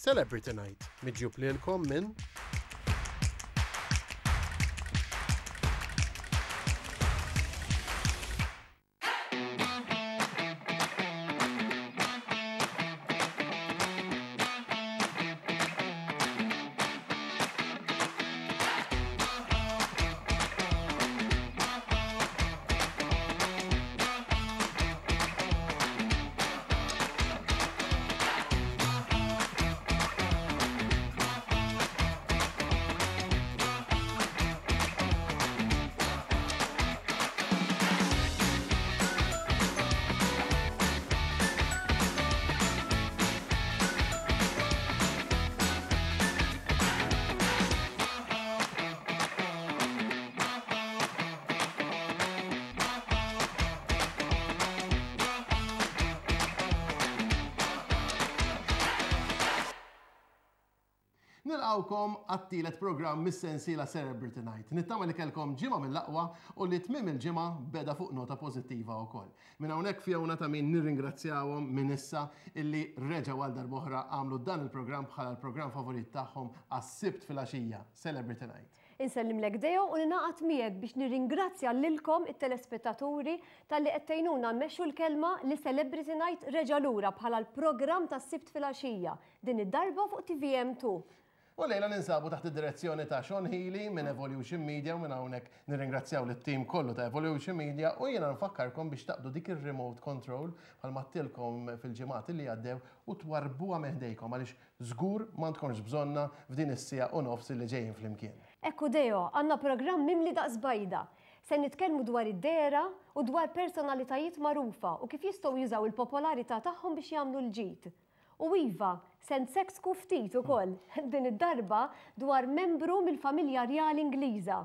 Celebrity Night, miġjub lilkom minn Nilqgħukom għat-tielet programm mis-sensiela Celebrity Night. Nittama li kellkom ġimgħa mill-aqwa u li tmiem il-ġimgħa beda fuq nota pożittiva wkoll. Minn hawnhekk Fiona ta' min nirringrazzjawhom minn issa illi reġgħu għal darb'oħra għamlu dan il-programm bħala l-programm favorit tagħhom għas-Sibt filgħaxija, Celebrity Night. Insellimlek Deo u ningħaqad miegħek biex nirringrazzja lilkom it-telespettaturi talli qed tgħinuna mmexxu l-kelma li Celebrity Night reġa' lura bħala l-programm tas-Sibt filgħaxija, din id-darba fuq TVM2. U llejla ninsabu taħt id-direzzjoni ta' Sean Healy minn Evolution Media u minn hawnhekk nirringrazzjaw lit-tim kollu ta' Evolution Media u jiena nfakkarkom biex taqbdu dik ir-remote control bħalma għedtilkom fil-ġimgħat li għaddew u twarrbuha minn ħdejkom għaliex żgur m'għandkomx bżonnha f'din is-siegħa u nofs li ġejjin flimkien. Ekku Deo, għandna programm mimli daqs bajda. Se nitkellmu dwar id-dehra u dwar personalitajiet magħrufa u kif jistgħu jużaw il-popolarità tagħhom biex jagħmlu l-ġid. U iva, se nseksku ftit ukoll, din id-darba dwar membru mill-familja rjali Ingliża.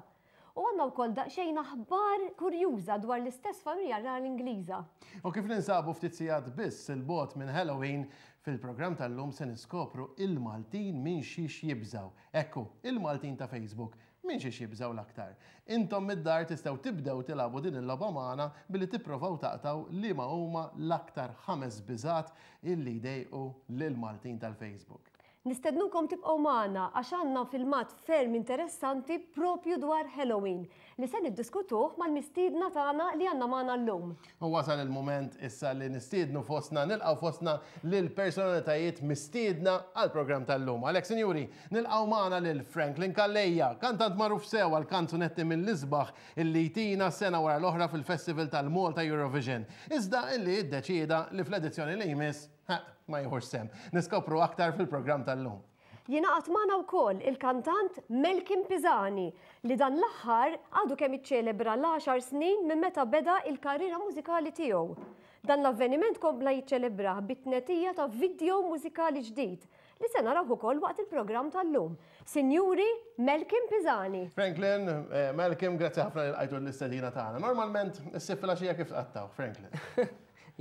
U għandna wkoll daqsxejn aħbar kurjuża dwar l-istess familja rjali Ingliża. U kif ninsabu ftit sigħat biss 'il bogħod minn Halloween, fil-programm tal-lum se niskopru il-Maltin minn xiex jibżgħu. Ekku, il-Maltin ta' Facebook Minn xiex jibżgħu l-aktar? Intom mid-dar tistgħu tibdew tilagħbu din il-logħba magħna billi tipprovaw taqtgħu liema huma l-aktar ħames biżgħat illi jdejqu lill-Maltin tal-Facebook. Nistednukom tibqgħu magħna għax għandna filmat ferm interessanti propju dwar Halloween li se niddiskutuh mal-mistiedna tagħna li għandna magħna llum. U wasal il-mument issa li nistiednu fostna, nilqgħu fostna lil personalitajiet mistiedna għall-programm tal-lum. Għalhekk, sinjuri, nilqgħu magħna lil Franklin Calleja, kantant magħruf sew għal kanzunetti mill-isbaħ illi jtina sena wara l-oħra fil-Festival tal-Malta Eurovision, iżda illi iddeċieda li fl-edizzjoni li jmiss, ha, ma jieħux sehem. Niskopru aktar fil-programm tal-lum. Jingħaqad magħna wkoll il-kantant Melkim Pisani li dan l-aħħar għadu kemm iċċelebra l-għaxar snin minn meta beda il-karriera mużikali tiegħu. Dan l-avveniment kompla jiċċelebrah bit-tnedija ta' vidjow mużikali ġdid li se narawh ukoll waqt il-programm tal-lum. Sinjuri, Melkim Pisani. Franklin, Malcolm, grazzi ħafna li lqajtu l-istedina tagħna. Normalment, is-Sibt filgħaxija kif tqattgħu, Franklin?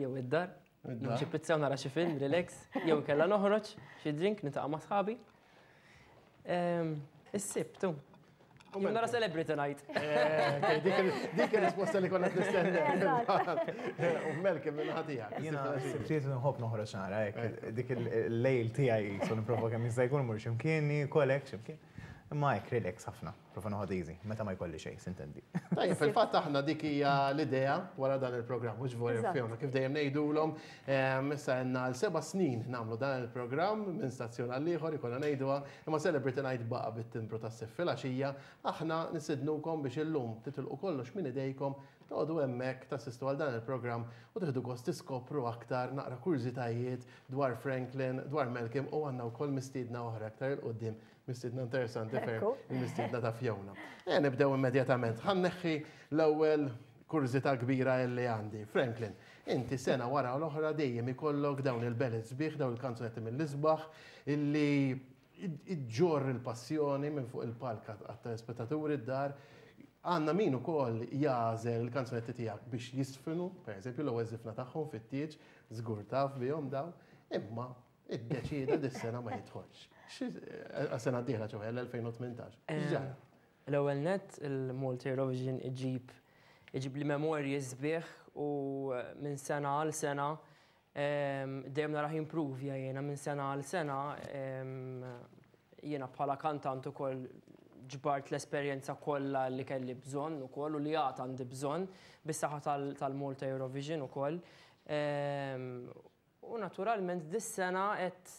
Jew id-dar. Nieħu xi pizza u nara xi film, relax, jew inkella noħroġ xi drink niltaqa' ma' sħabi. Ehm, is-sibt, u. Jew nara Celebrity Night. Eh, dik il-risposta li konna nistenna. U Melkem minn ħatija. Jiena s-sibtiet nħobb noħroġ nara, hekk, dik il-lejl tiegħi so nipprova kemm jista' jkun mur x'imkien, niekol hekk x'imkien. Imma hekk relax ħafna. Prova noħod easy, meta ma jkolli xejn, sintendi. Tajjeb, fil-fatt aħna dik hija l-idea wara dan il-programm, mhux vorja Fiona, kif dejjem ngħidulhom, ehm, issa għandna għal seba' snin nagħmlu dan il-programm minn stazzjon għal ieħor ikollna ngħiduha, imma Celebrity Night baqa' bit-timbru tas-sif filgħaxija, aħna nistednukom biex illum titilqu kollox minn idejkom, toqogħdu hemmhekk tassistu għal dan il-programm u tieħdu gost tiskopru aktar naqra kurżitajiet dwar Franklin, dwar Malcolm u għandna wkoll mistiedna oħra aktar 'il quddiem Mistiedna interessanti ferm, il-mistiedna ta' Fiona. E nibdew immedjatament. Ħa nneħħi l-ewwel kurżità kbira illi għandi. Franklin, inti sena wara l-oħra dejjem ikollok dawn il-ballads sbieħ, dawn il-kanzunetti mill-isbaħ illi iġġorr il-passjoni minn fuq il-palk għat-telespettaturi d-dar. Għandna min ukoll jagħżel il-kanzunetti tiegħek biex jisfinu, per eżempju l-ewwel żifna tagħhom fit-tieġ, żgur taf bihom dawn, imma Iddeċieda dis-sena ma jidħolx. Għas-sena d-dieħla ċoħe l-2018. X'ġara? L-ewwel nett il-Malta Eurovision iġib iġib li memorji sbieħ u minn sena għal sena Dejjem narah jimprovja jiena minn sena għal sena. Jiena bħala kantant ukoll ġbart l-esperjenza kollha li kelli bżonn ukoll u li għad għandi bżonn bis-saħħa tal-Malta Eurovision ukoll. U naturalment dis-sena qed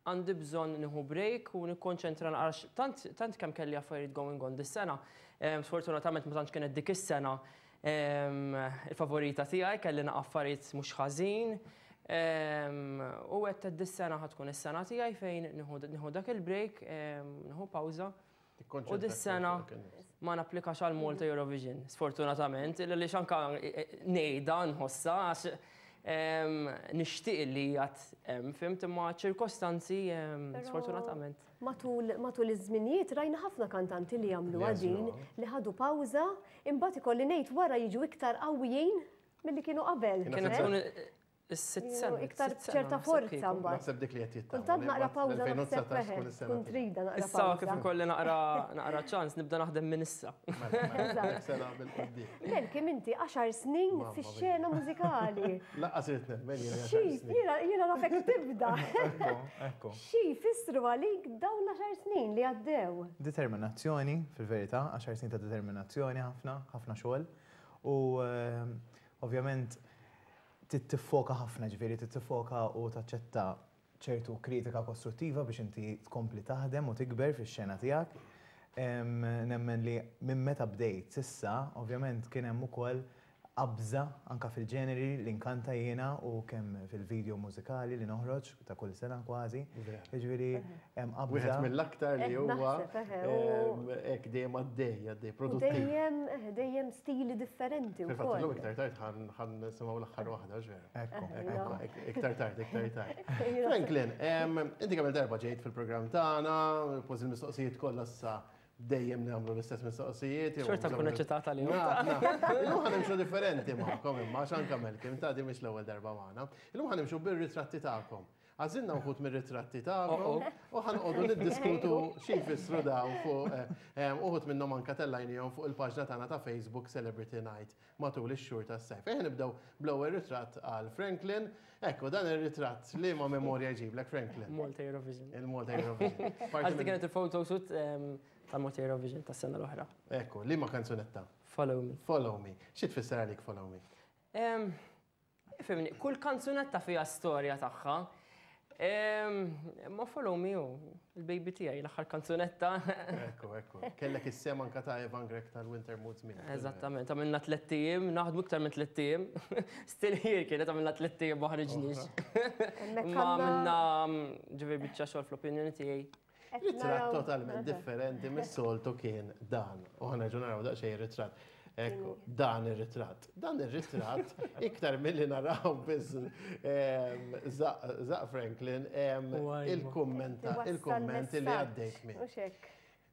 għandi bżonn nieħu break u nikkonċentra naqra tant tant kemm kelli affarijiet going on dis-sena. Sfortunatament ma tantx kienet dik is-sena il-favorita tiegħi, kelli naqa' affarijiet mhux ħażin. U għedt dis-sena ħa tkun is-sena tiegħi fejn nieħu dak il-break, nieħu pawża. U dis-sena ma napplikax għal Malta Eurovision, sfortunatament, li anka ngħidha nħossha għax nixtieq li għad hemm, fhimt, imma ċirkostanzi sfortunatament. Matul iż-żminijiet rajna ħafna kantanti li jagħmlu din li ħadu pawża, imbagħad ikolli ngħid wara jiġu iktar qawwijin milli kienu qabel. Kienet tkun is-sitt sena. Iktar ċerta forza mbagħad. Naħseb dik li qed jittama. Kultant naqra pawża naħseb eħe, tkun trida naqra Issa kif ikolli naqra ċans nibda naħdem minn issa. Sena bil-quddiem. Melkim inti 10 snin fix-xena mużikali. Lanqas irid nemmen jiena 10 snin. Jiena nafek tibda. Ekku. Xi jfissru għalik dawn l-10 snin li għaddew? Determinazzjoni, fil-verità, 10 snin ta' determinazzjoni ħafna, ħafna xogħol. U ovvjament tiffoka ħafna, ġifieri tiffoka u taċċetta ċertu kritika kostruttiva biex inti tkompli taħdem u tikber fix-xena tiegħek. Nemmen li minn meta bdejt s'issa, ovvjament kien hemm ukoll qabża anka fil-ġeneri li nkanta jiena u kemm fil-video mużikali li noħroġ ta' kull sena kważi. Jiġifieri hemm qabża. Wieħed mill-aktar li huwa Naħseb, eħe, u hekk dejjem għaddej, għaddej U produttiv. Dejjem, eħe, dejjem stili differenti Fil-fatt illum wkoll. iktar tard ħa nisimgħu l-aħħar waħda, ġveru. Ekku, Eħe, ekku. Iktar tard, iktar tard. Franklin, inti kemm darba ġejt fil-programm tagħna, kważi l-mistoqsijiet kollha issa dejjem nagħmlu l-istess mistoqsijiet. jew Xorta nkun eċitata li Naf, naf. Illum ħa nimxu differenti magħkom imma għax anke Melkim ta' di mhix l-ewwel darba magħna. Illum ħa nimxu bir-ritratti tagħkom. Għażilna wħud mir-ritratti tagħkom u ħa noqogħdu niddiskutu xi jfissru dawn fuq uħud minnhom anke tellajnihom fuq il-paġna tagħna ta' Facebook Celebrity Night matul ix-xhur tas-sajf. Ejja nibdew bl-ewwel ritratt għal Franklin. Ekku, dan ir-ritratt li ma memorja jġiblek Franklin. Malta Eurovision. Il-Malta Eurovision. Parti Għax minn- kienet il-photoshoot tal-Malta Eurovision tas-sena l-oħra. Ekku, li ma kanzunetta? Follow Me. Follow Me. Xi tfisser għalik Follow Me? Fhimni, kull kanzunetta fiha storja tagħha. Ma Follow Me hu, il-baby tiegħi, l-aħħar kanzunetta. Ekku, ekku. Kellek is-sehem anka ta' Evan Grech tal-Winter Moods minn. Eżattament, għamilna 3 ijiem, naħdmu iktar minn 3 ijiem. Still here kienet għamilna 3 ijiem ma ħriġniex. Hemmhekk Ma għandna għamilna ġifieri biċċa xogħol fl-opinjoni tiegħi. qed Ritratt naraw- totalment differenti mis-soltu kien dan. U ħa nerġgħu naraw daqsxejn ritratt. Ekku, dan ir-ritratt. Dan ir-ritratt iktar milli naraw biss żaqq Franklin Wajma. il-kummenta, Iwassal il-kumment li messaġġ, għaddejt minn. Mhux hekk.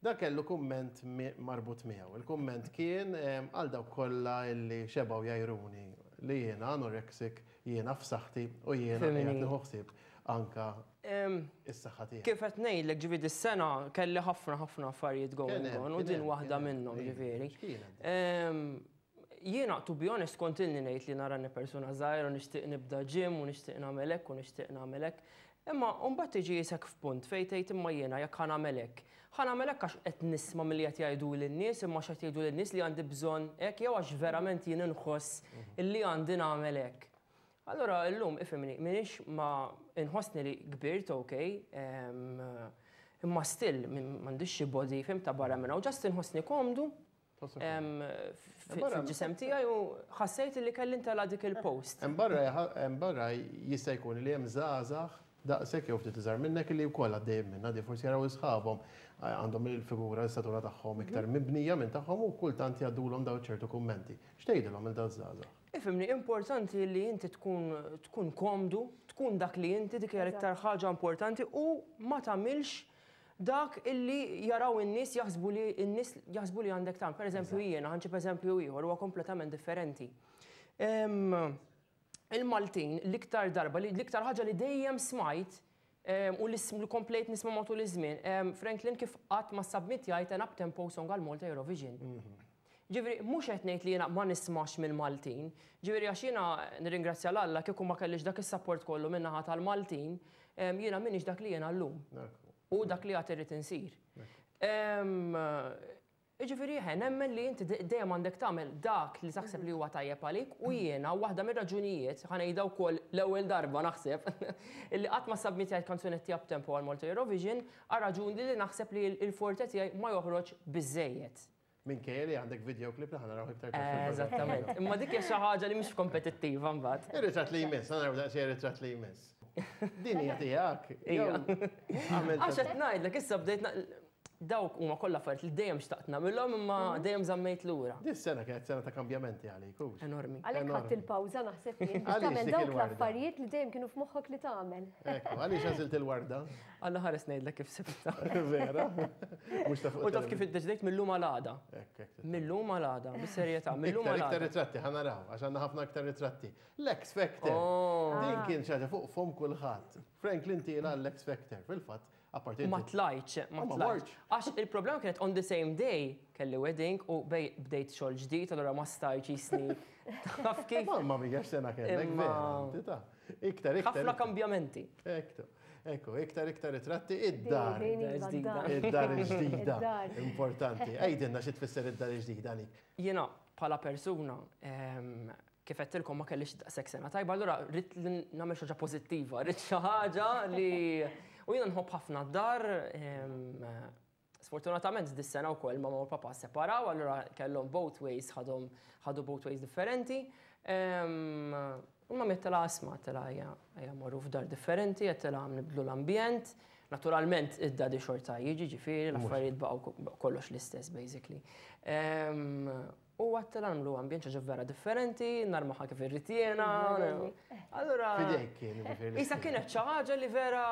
Da kellu kumment marbut miegħu. Il-kumment kien għal dawk kollha illi xebgħu jgħajruni li jiena anorexic, jiena f'saħħti u jiena Fhimni. qiegħed nieħu ħsieb anka is-saħħa tiegħi. Kif qed ngħidlek ġifieri dis-sena kelli ħafna ħafna affarijiet going Kien hemm, on u kien din hemm, waħda kien hemm. minnhom Iva, ġifieri. x'kienet? Jiena, to be honest, kont ilni ngħid li narani persuna żgħira u nixtieq nibda gym u nixtieq nagħmel hekk u nixtieq nagħmel hekk. Imma mbagħad tiġi jisek f'punt fejn tgħid imma jiena jekk ħa nagħmel hekk. Ħa nagħmel hekk għax qed nisma' milli qed jgħidu lin-nies imma x'qed jgħidu lin-nies li għandi bżonn hekk jew għax verament jien inħoss illi għandi nagħmel hekk. Allora illum ifhimni, minix ma inħossni li kbirt, ok, imma still m'għandix xi body fhimt ta' barra minn hawn, just inħossni komdu fil-ġisem tiegħi u ħassejt li kelli ntella' dik il-post. Hemm barra jista' jkun li hemm żgħażagħ daqshekk jew ftit iżgħar minnek li wkoll għaddejjem minnha di forsi jaraw isħabhom għandhom il-figura l-istatura tagħhom iktar mibnija minn tagħhom u kultant jgħaddulhom daw ċertu kummenti. X'tgħidilhom il daw żgħażagħ? Ifhimni, importanti li inti tkun komdu, tkun dak li inti, dik hija l-iktar ħaġa importanti u ma tagħmilx dak illi jaraw in-nies jaħsbu li n-nies jaħsbu li għandek tagħmel. Per eżempju jiena, ħa nġib eżempju ieħor huwa kompletament differenti. Il-Maltin l-iktar darba, l-iktar ħaġa li dejjem smajt u li komplejt nisma' matul iż-żmien, Franklin kif qatt ma submit jgħid an up-tempo song għal Malta Eurovision. Ġifieri mhux qed ngħid li jiena ma nismax mill-Maltin, ġifieri għax jiena nirringrazzja 'l Alla kieku ma kellix dak is-sapport kollu min-naħa tal-Maltin, jiena m'iniex dak li jiena llum. U dak li għad irrid insir. Jiġifieri eħe, nemmen li inti dejjem għandek tagħmel dak li taħseb li huwa tajjeb għalik u jiena waħda mir-raġunijiet, ħa ngħidha wkoll l-ewwel darba naħseb, illi qatt ma ssubmittjajt kanzunetti up-tempo għal Malta Eurovision għal raġuni li naħseb li l-forte tiegħi ma joħroġ biżżejjed. Minkejja li għandek videoclip li ħa naraw iktar tard fil-programm. Eżattament. Imma dik hija xi ħaġa li mhix kompetittiva mbagħad. Ir-ritratt li jmiss, ħa naraw daqsxejn ir-ritratt li jmiss. Din hija tiegħek. Ija. Għax qed ngħidlek issa bdejt dawk huma kollha affarijiet li dejjem xtaqt nagħmilhom imma dejjem żammejt lura. Dis-sena kienet sena ta' kambjamenti għalik, hux? Enormi. Għalhekk ħadt il-pawża naħseb jien biex tagħmel dawk l-affarijiet li dejjem kienu f'moħħok li tagħmel. Ekku, għaliex għażilt il-warda? Alla ħares ngħidlek kif sibtha. Vera? Mhux ta' fuq. U taf kif iddeċidejt mil-lum għal għada. Mil-lum għal għada, bis-serjetà, mil-lum għal għada. Iktar ritratti, ħa naraw, għax għandna ħafna iktar ritratti. L-X Factor. Oh. Din kien xi ħaġa fuq fom kulħadd. Franklin tiela l-X Factor, fil-fatt, apparti. Ma tlajtx, ma tlajtx. Għax il-problema kienet on the same day kelli wedding u bdejt xogħol ġdid, allura ma stajtx jisni. Taf kif? Mamma mia, x'sena kellek, vera. Iktar, iktar. Ħafna kambjamenti. Ekku. Ekku, iktar iktar ritratti id-dar. Id-dar il-ġdida. Importanti. Għidilna xi tfisser id-dar il-ġdida għalik. Jiena bħala persuna kif għedtilkom ma kellix daqshekk sena tajba, allura rrid li nagħmel xi ħaġa pożittiva, rrid xi ħaġa li u jiena nħobb ħafna d-dar. Sfortunatament dis-sena wkoll mamma u papa separaw, allura kellhom both ways ħadhom ħadu both ways differenti. U mamma għedtilha isma' għedtilha ejja ejja mmorru f'dar differenti, għedtilha nibdlu l-ambjent. Naturalment id-daddy xorta jiġi ġifieri l-affarijiet baqgħu kollox l-istess basically. U għedtilha nagħmlu ambjent xi ħaġa vera differenti, narmaha kif irrid jiena. Allura. Fidejk kien, jiġifieri. Isa kienet xi ħaġa li vera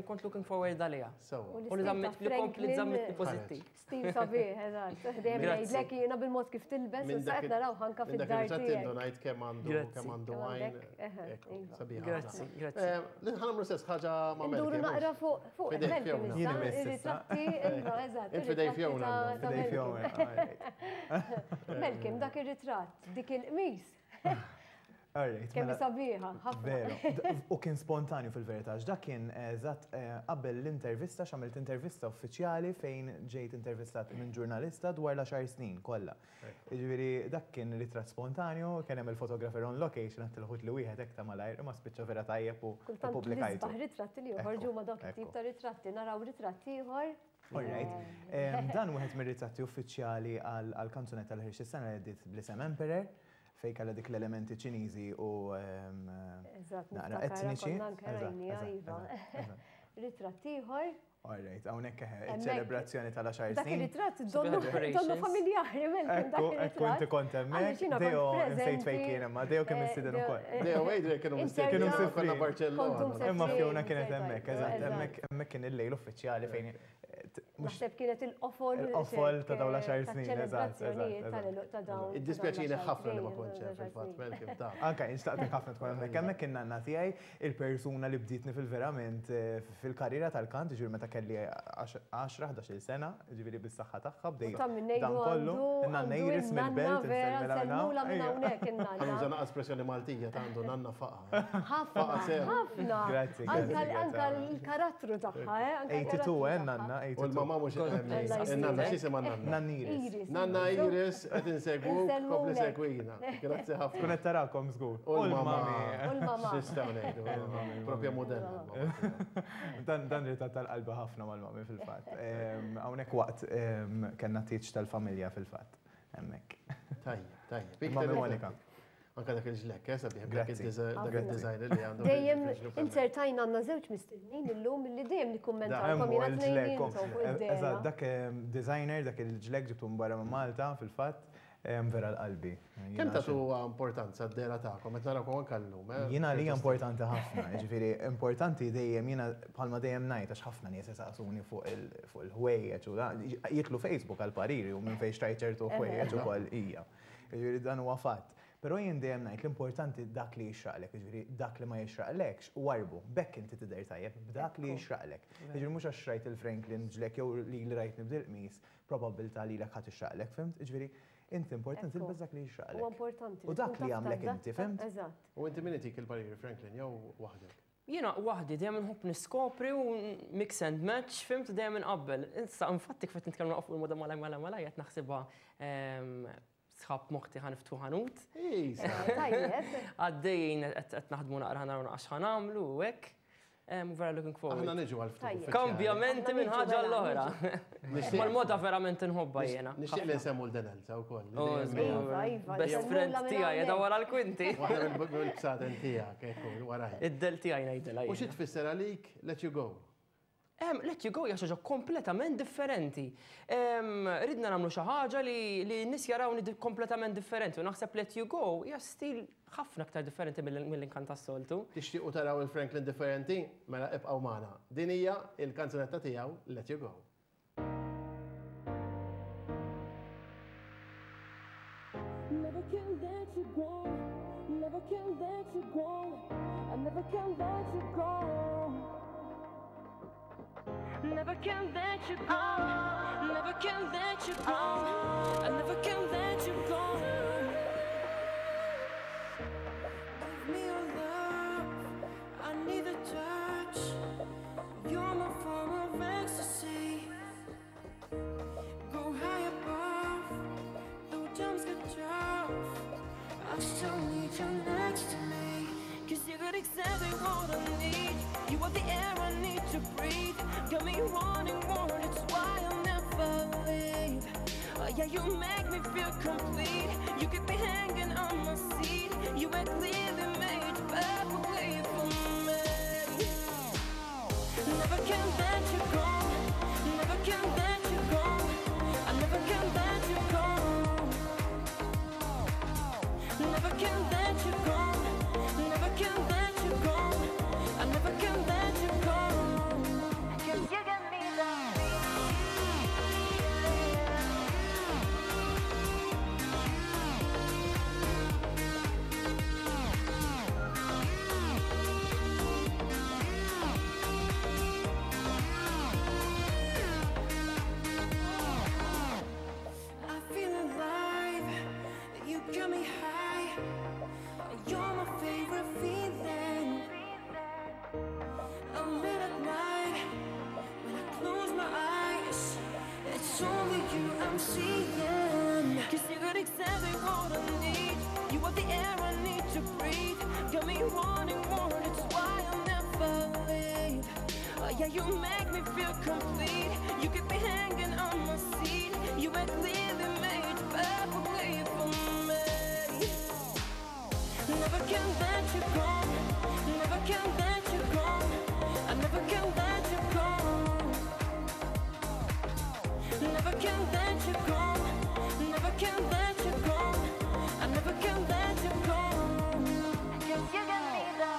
kont looking forward għaliha. Sewwa. U li żammet li kompli żammitni pożittiv. Stil sabiħ, eżatt. Dejjem ngħidlek jiena bil-mod kif tilbes u sa qed naraw anke fid-dar. Minn dak ir-ritratt indunajt kemm għandu kemm għandu għajn. Sabiħ. Grazzi, grazzi. Ħa nagħmlu stess ħaġa ma' Melky. Nduru naqra fuq fuq Melky issa. Ir-ritratti, iva, eżatt. Int f'idej Fiona. F'idej Fiona. Melkim, dak ir-ritratt, dik il-qmis. Kemm mela, sabiħa, ħafna. Veru. U kien spontanju fil-verità, għax dak kien eżatt qabel l-intervista, x'għamilt intervista uffiċjali fejn ġejt intervistat minn ġurnalista dwar l-għaxar snin kollha. Jiġifieri dak kien ritratt spontanju, kien hemm il-photographer on location għedt il-ħut li wieħed hekk ta' malajr, imma spiċċa vera tajjeb u Kultant ppubblikajtu. l-isbaħ ritratti li joħorġu huma dawk it-tip ta' ritratti, naraw ritratt ieħor. All right. Dan wieħed mir-ritratti uffiċjali għall-kanzunetta li ħriġt is-sena li għaddiet bl-isem Emperor. Fejn kellha dik l-elementi Ċiniżi u naqra etniċi. Ritratt ieħor. All right, hawnhekk eħe, iċ-ċelebrazzjoni tal-għaxar Dak snin. ir-ritratt donnu familjari Malcolm dak Ekku, ekku inti kont hemmhekk. Deo, insejt fejn kien imma, Deo kien mistieden ukoll. Deo Adrian kienu mistieden. Kienu msifrin. Konna Barcellona. Imma Fiona kienet hemmhekk, eżatt, hemmhekk kien il-lejl uffiċjali fejn Naħseb kienet il-qofol. Il-qofol ta' dawn l-għaxar snin, eżatt. Ċelebrazzjonijiet ta' dawn. Iddispjaċini ħafna li ma kontx hemm fil-fatt, Malcolm, ta'. Anke jien xtaqtek ħafna tkun hemmhekk. Hemmhekk kien nanna tiegħi, il-persuna li bdietni fil-verament fil-karriera tal-kant, jiġifieri meta kelli għaxra, ħdax-il sena, jiġifieri bis-saħħa tagħha bdejt dan kollu. In-nanna Iris mill-Belt, insellmilha minn hawn. Insellmulha minn hawnhekk in-nanna. Ħa nuża naqra espressjoni Maltija ta' għandu nanna faqa'. Ħafna, ħafna. Grazzi, grazzi. Anke l-karattru tagħha, eh? 82, eh, nanna. U l-mamma mhux Nanna, x'jisimha nanna? Nanna Iris. Nanna Iris, qed insegwuk, kompli segwina. Grazzi ħafna. Tkun qed tarakom żgur. U l-mamma. U l-mamma. X'nistgħu ngħidu? Propja mudella. Dan dan ritratt tal-qalbi ħafna mal-mami fil-fatt. Hawnhekk waqt kellna tieġ tal-familja fil-fatt. Hemmhekk. Tajjeb, tajjeb. Mami Monika. Anka dak il-ġlekk, eh, sabiħ, dak il-design li għandu. Dejjem inzertajna għandna żewġ mistednin illum li dejjem nikkummentalkom jiena tnejn intom fuq id-dehra. Eżatt, dak designer, dak il-ġlekk ġibtu minn barra minn Malta fil-fatt, vera l-qalbi. Kemm tagħtu importanza d-dehra tagħkom, qed narawkom anke llum, eh? Jiena għalija importanti ħafna, jiġifieri importanti dejjem jiena bħalma dejjem ngħid għax ħafna nies isaqsuni fuq il-ħwejjeġ u jidħlu Facebook għall-pariri u minn fejn xtrajt ċertu ħwejjeġ ukoll hija. Jiġifieri dan huwa fatt. Però jien dejjem ngħid l-importanti dak li jixraqlek, jiġifieri dak li ma jixraqlekx, warrbu. B'hekk inti tidher tajjeb, b'dak li jixraqlek. Jiġifieri mhux għax rajt il-Franklin ġlek jew lili rajtni b'dil-qmis, probabbiltà lilek ħa tixraqlek, fhimt? Jiġifieri. Inti importanti tilbes dak li jixraqlek. Huwa importanti. U dak li jagħmlek inti, fhimt? Eżatt. U inti min itik il-pariri, Franklin, jew waħdek? Jiena waħdi dejjem nħobb niskopri u mix and match, fhimt, dejjem inqabbel. Issa infatti kif qed nitkellmu fuq il-moda malaj malaj malaj qed naħsibha sħab moħti ħa niftħu ħanut. Tajjeb. Għaddejjin qed naħdmu naqra naraw naqra x'ħa nagħmlu u hekk. Vera looking forward. Aħna niġu għal ftit. Kambjamenti minn ħaġa l-oħra. Ma l-moda verament inħobba jiena. Nixtieq li nsemmu l-Denelza wkoll. Oh, Iva, iva. Best friend tiegħi qiegħda wara l-kwinti. Waħda mill-bsaten tiegħek, ekku, waraj. Id-del tiegħi ngħidilha. U xi tfisser għalik let you go? Let you go hija xi ħaġa kompletament differenti. Ridna nagħmlu xi ħaġa li n-nies jarawni kompletament differenti u naħseb let you go hija stil ħafna aktar differenti mill-inkant tas-soltu. Tixtiequ taraw il-Franklin differenti? Mela ibqgħu magħna. Din hija il-kanzunetta tiegħu Let You Go. Never can let you go. Never can let you go. I never can let you go. Never can let you go. Never can let you go. I never can let you go. Give me your love. I need a touch. You're my form of ecstasy. Go high above. Though times get tough, I still need you next to me. 'Cause you got exactly what I need. You are the air I need to breathe. Got me wanting more, that's why I'll never leave. Oh yeah, you make me feel complete. You keep me hanging on my seat. You were clearly made perfectly for me. Never can let you go. Never can let you go. I never can let you go. Never can let you go. Never can let you go. I never can let you go. 'Cause you got me that I feel alive. You got me high. You're my favorite feeling. I'm late at night when I close my eyes. It's only you I'm seeing. 'Cause you got exactly what I need. You are the air I need to breathe. Got me wanting more, that's why I'll never leave. Oh yeah, you make me feel complete. You keep me hanging on my seat. You were clearly made perfectly for me. Never can let you go. Never can let you go. I never can let you go. Never can let you go. Never can let you go. I never can let you go. 'Cause you got me that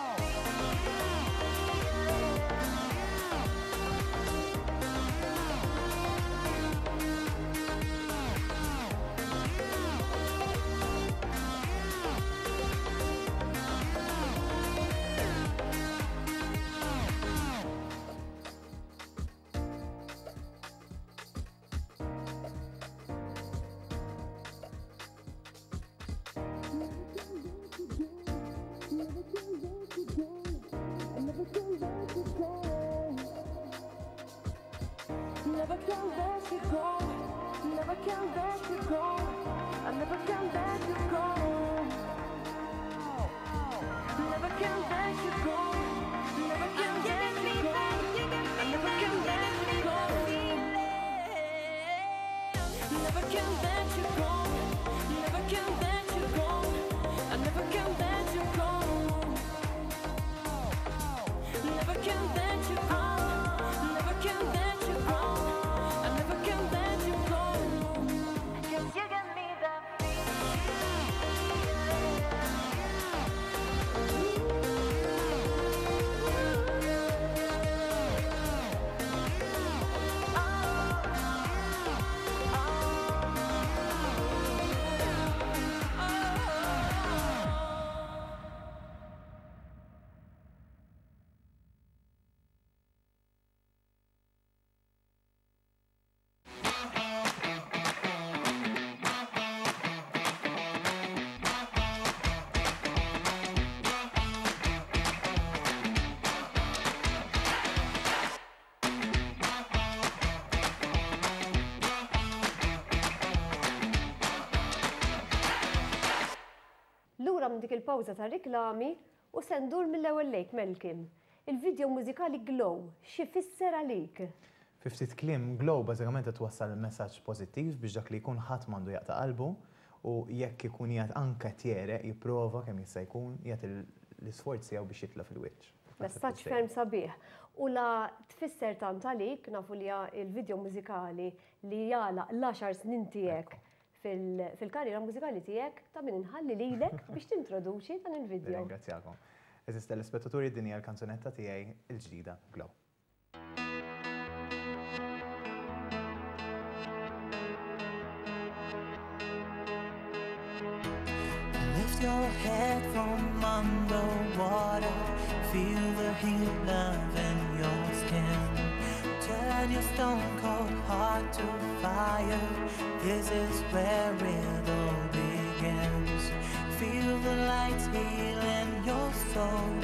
Never can let you go. I never can let you go. Never can let you go. Never can let you go. I never can let you go. Never can let you go. Never can let you go. I never can let you go. Never can let you go. Never can let you go. I never can let you go. Never can let you go. Never can let you go. I never can let you go. 'Cause you got me that feeling. lura minn dik il-pawża ta' riklami u se ndur mill-ewwel lejk Malcolm. Il-video mużikali Glow, x'ifisser għalik? Fi ftit kliem, Glow bażikament qed twassal messaġġ pożittiv biex dak li jkun ħadd m'għandu jaqta' qalbu u jekk ikun qiegħed anke qed jegħreq jipprova kemm jista' jkun jagħti l-isforz tiegħu biex jitla' fil-wiċċ. Messaġġ ferm sabiħ. U la tfisser tant għalik, nafu li il-video mużikali li jagħlaq l-għaxar snin tiegħek fil-karriera mużikali tiegħek ta' min inħalli lilek biex tintroduċi dan il-video. Ringrazzjakom. Eżis telespettaturi din hija l-kanzunetta tiegħi il-ġdida Glow. Lift your head from underwater Feel the heat love in your skin Turn your stone cold heart to fire This is where it all begins Feel the lights healing your soul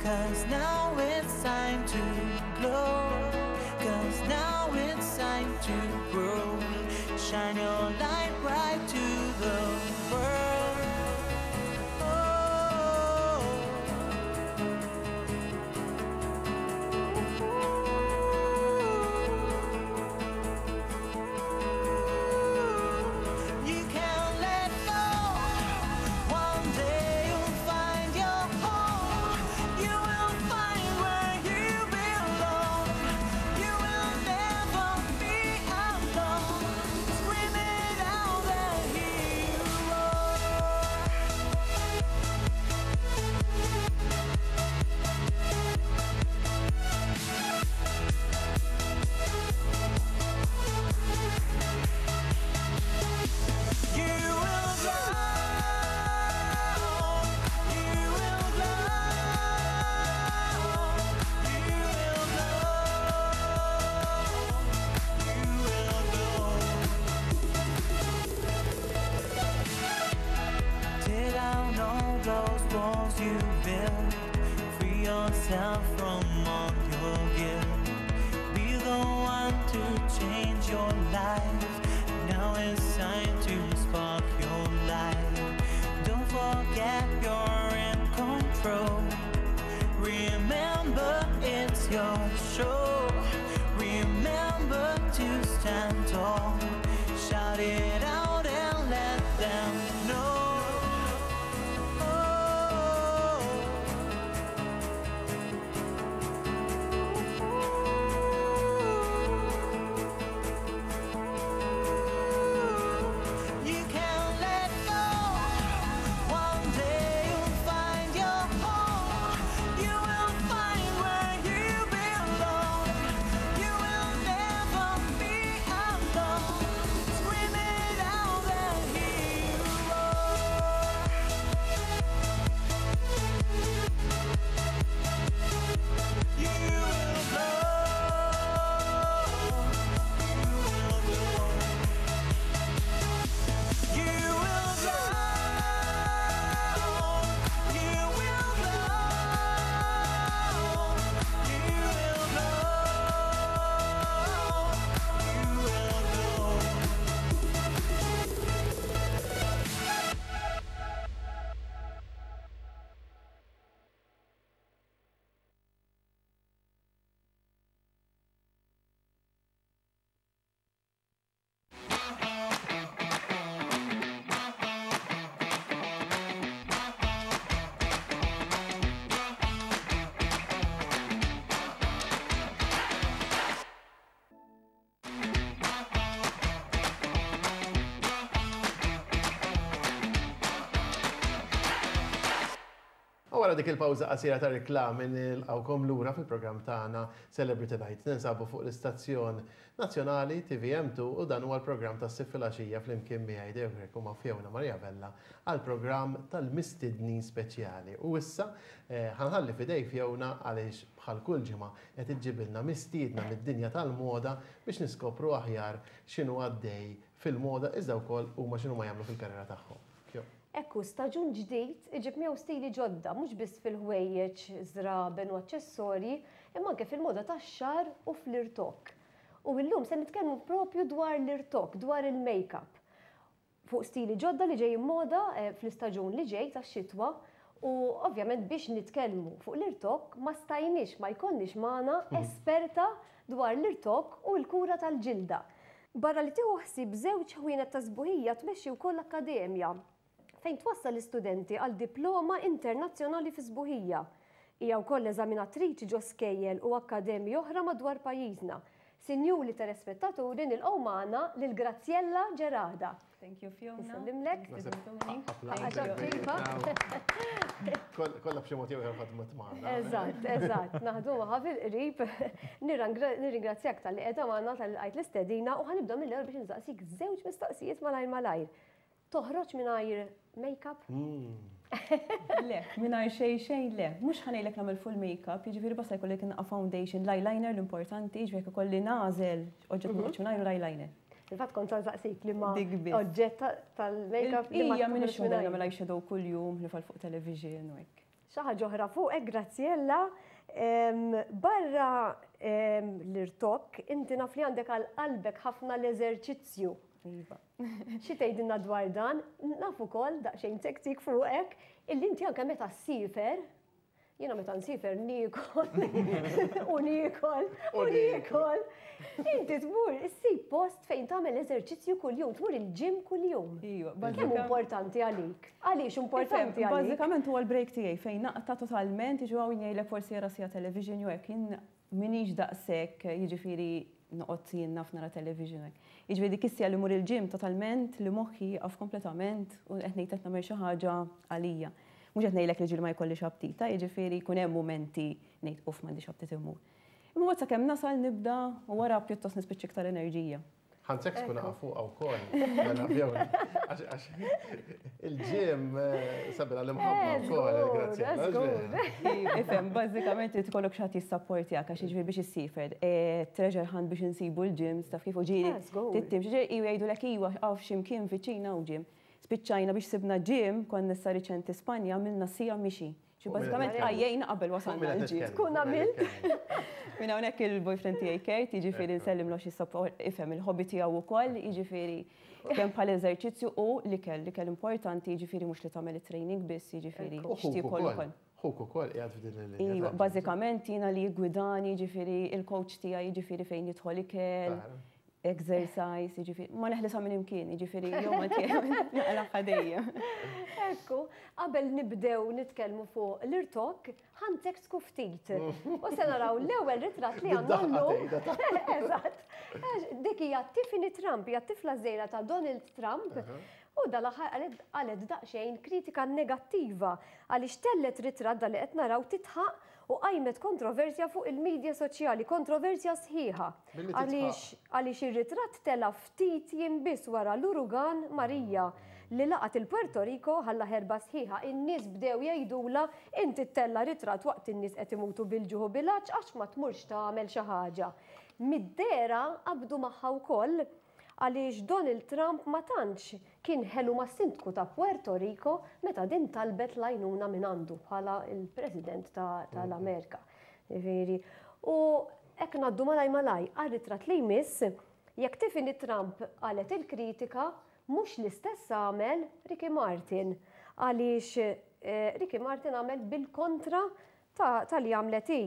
Cause now it's time to glow Cause now it's time to grow Shine your light bright to the world Oh. You can't let go. One day you'll find your home. You will find where you belong. You will never be alone. Scream it out and hear you roar. You will glow. You will glow. You will glow. You will glow. Tear down all those walls you built. Free yourself from all your guilt. Be the one to change your life. Now it's time to spark your life. Don't forget you're in control. Remember it's your show. Remember to stand tall. Shout it out and let them know. Oh. You can't let go. One day you'll find your home. You will find where you belong. You will never be alone. Scream it out and hear you roar. You will glow. You will glow. You will glow. You will glow. You will glow. You will glow. U wara dik il-pawża qasira ta' reklami nilqawkom lura fil-programm tagħna Celebrity Night. Ninsabu fuq l-istazzjon nazzjonali TVM2 u dan huwa l-programm tas-Sibt filgħaxija flimkien miegħi Deo Grech u ma' Fiona Maria Vella għall-programm tal-mistednin speċjali. U issa eh, ħa nħalli f'idej Fiona għaliex bħal kull ġimgħa qed iġġibilna mistiedna mid-dinja tal-moda biex niskopru aħjar x'inhu għaddej fil-moda iżda wkoll huma x'inhu ma jagħmlu fil-karriera tagħhom. Fio. Ekku, staġun ġdid iġib miegħu stili ġodda, mhux biss fil-ħwejjeġ, żraben u aċċessorji, imma anke fil-moda tax-xagħar u fl-irtokk. U illum se nitkellmu propju dwar l-irtokk, dwar il-make-up. fuq stili ġodda li ġejjin moda fl-istaġun li ġej tax-xitwa u ovvjament biex nitkellmu fuq l-irtokk ma stajniex ma jkollniex magħna esperta dwar l-irtokk u l-kura tal-ġilda. Barra li tieħu ħsieb żewġ ħwienet ta' sbuħija tmexxi wkoll akkademja fejn twassal l-istudenti għal diploma internazzjonali fis-sbuħija. Hija wkoll eżaminatriċi ġo skejjel u akkademji oħra madwar pajjiżna. Sinjuri telespettaturi nilqgħu magħna lil Graziella Gerada. Thank you Fiona. Nsellimlek. Kollha b'xi mod jew ieħor ħadmet magħna. Eżatt, eżatt. Naħdu magħha fil-qrib. Nirringrazzjak talli qiegħda magħna talli lqajt l-istedina u ħa nibda mill-ewwel biex insaqsik żewġ mistoqsijiet malajr malajr. Toħroġ mingħajr make-up? Le, mingħajr xejn xejn le. Mhux ħa ngħidlek nagħmel full make-up, jiġifieri basta jkollek inqa' foundation, l-eyeliner l-importanti, jiġifieri jekk ikolli nagħżel oġġett ma noqgħodx mingħajru l-eyeliner. Fil-fatt kont se nsaqsik liema oġġett tal-make-up li ma Hija m'iniex waħda li nagħmel eyeshadow kuljum ħlief għal fuq television u hekk. Xi ħaġa oħra fuqek, Graziella, barra l-irtokk, inti naf li għandek għal qalbek ħafna l-eżerċizzju. Iva. Xi tgħidilna dwar dan? Naf ukoll daqsxejn tektik fuqek illi inti anke meta ssiefer, jiena meta nsiefer niekol u niekol u niekol. Inti tmur issib post fejn tagħmel eżerċizzju kuljum, tmur il-gym kuljum. Iva, Kemm importanti għalik? Għaliex importanti għalik? Bażikament huwa l-break tiegħi fejn naqta' totalment, jiġu hawn jgħidlek forsi jara sija television jew hekk, jien M'iniex daqshekk, jiġifieri noqgħod jien naf nara television hekk. Jiġifieri dik is-siegħa li mmur il-gym totalment li moħħi jieqaf kompletament u qed ngħid qed nagħmel xi ħaġa għalija. Mhux qed ngħidlek li ġieli ma jkollix aptita, jiġifieri jkun hemm mumenti ngħid uff m'għandix aptit immur. Imma mbagħad sakemm nasal nibda u wara pjuttost nispiċċa iktar enerġija. Ħanzek tkun naqaf fuqha wkoll. Mela, Fiona, għax il-ġim eh, sabila l-imħabba eh, wkoll, grazzi. Ifhem, bażikament irid ikollok xi ħadd jissapportjak għax jiġifieri biex issifer. Eh, treasure hunt biex insibu l-ġim, taf kif u ġieli. Tittim, xi ġieli jgħidulek iwa għaw x'imkien viċin hawn ġim. Spiċċajna biex sibna ġim, konna issa riċenti Spanja, għamilna sija mixi. Xi bażikament għajjejna qabel wasalna l-ġim. Tkun għamilt. Minn hawnhekk il-boyfriend tiegħi Kurt, jiġifieri nsellimlu għax ifhem il-hobby tiegħu wkoll, jiġifieri kemm bħal eżerċizzju u l-ikel, l-ikel importanti, jiġifieri mhux li tagħmel it-training biss, jiġifieri x'tiekol ukoll. Ħuk ukoll qiegħed f'din il-linja. Iva, bażikament jiena li jiggwidani, jiġifieri il-coach tiegħi, jiġifieri fejn jidħol ikel. Exercise, jiġifieri, ma neħlisha minn imkien, jiġifieri jew ma naqlagħha dejjem. Ekku, qabel nibdew nitkellmu fuq l-irtokk, ħa nteksku ftit. U se naraw l-ewwel ritratt li għandna llum. Eżatt. Dik hija Tiffany Trump, hija t-tifla żgħira ta' Donald Trump. U dal-aħħar qalet daqsxejn kritika negattiva għaliex tellgħet ritratt dan li qed naraw tidħaq u qajmet kontroversja fuq il-midja soċjali, kontroversja sħiħa. Għaliex għaliex ir-ritratt tela' ftit jiem biss wara l-urugan Maria li laqat il-Puerto Rico ħalla ħerba sħiħa. In-nies bdew jgħidulha inti ttella' ritratt waqt in-nies qed imutu bil-ġuħ u bil-għatx għax ma tmurx tagħmel xi ħaġa. Mid-dehra qabdu magħha wkoll għaliex Donald Trump ma tantx kien ħelu mas-sindku ta' Puerto Rico meta din talbet l-għajnuna mingħandu bħala l-President tal-Amerika. Jiġifieri, u hekk ngħaddu malaj malaj għar-ritratt li jmiss, jekk Tiffany Trump qalet il-kritika, mhux l-istess għamel Ricky Martin. Għaliex Ricky Martin għamel bil-kontra ta' li għamlet hi.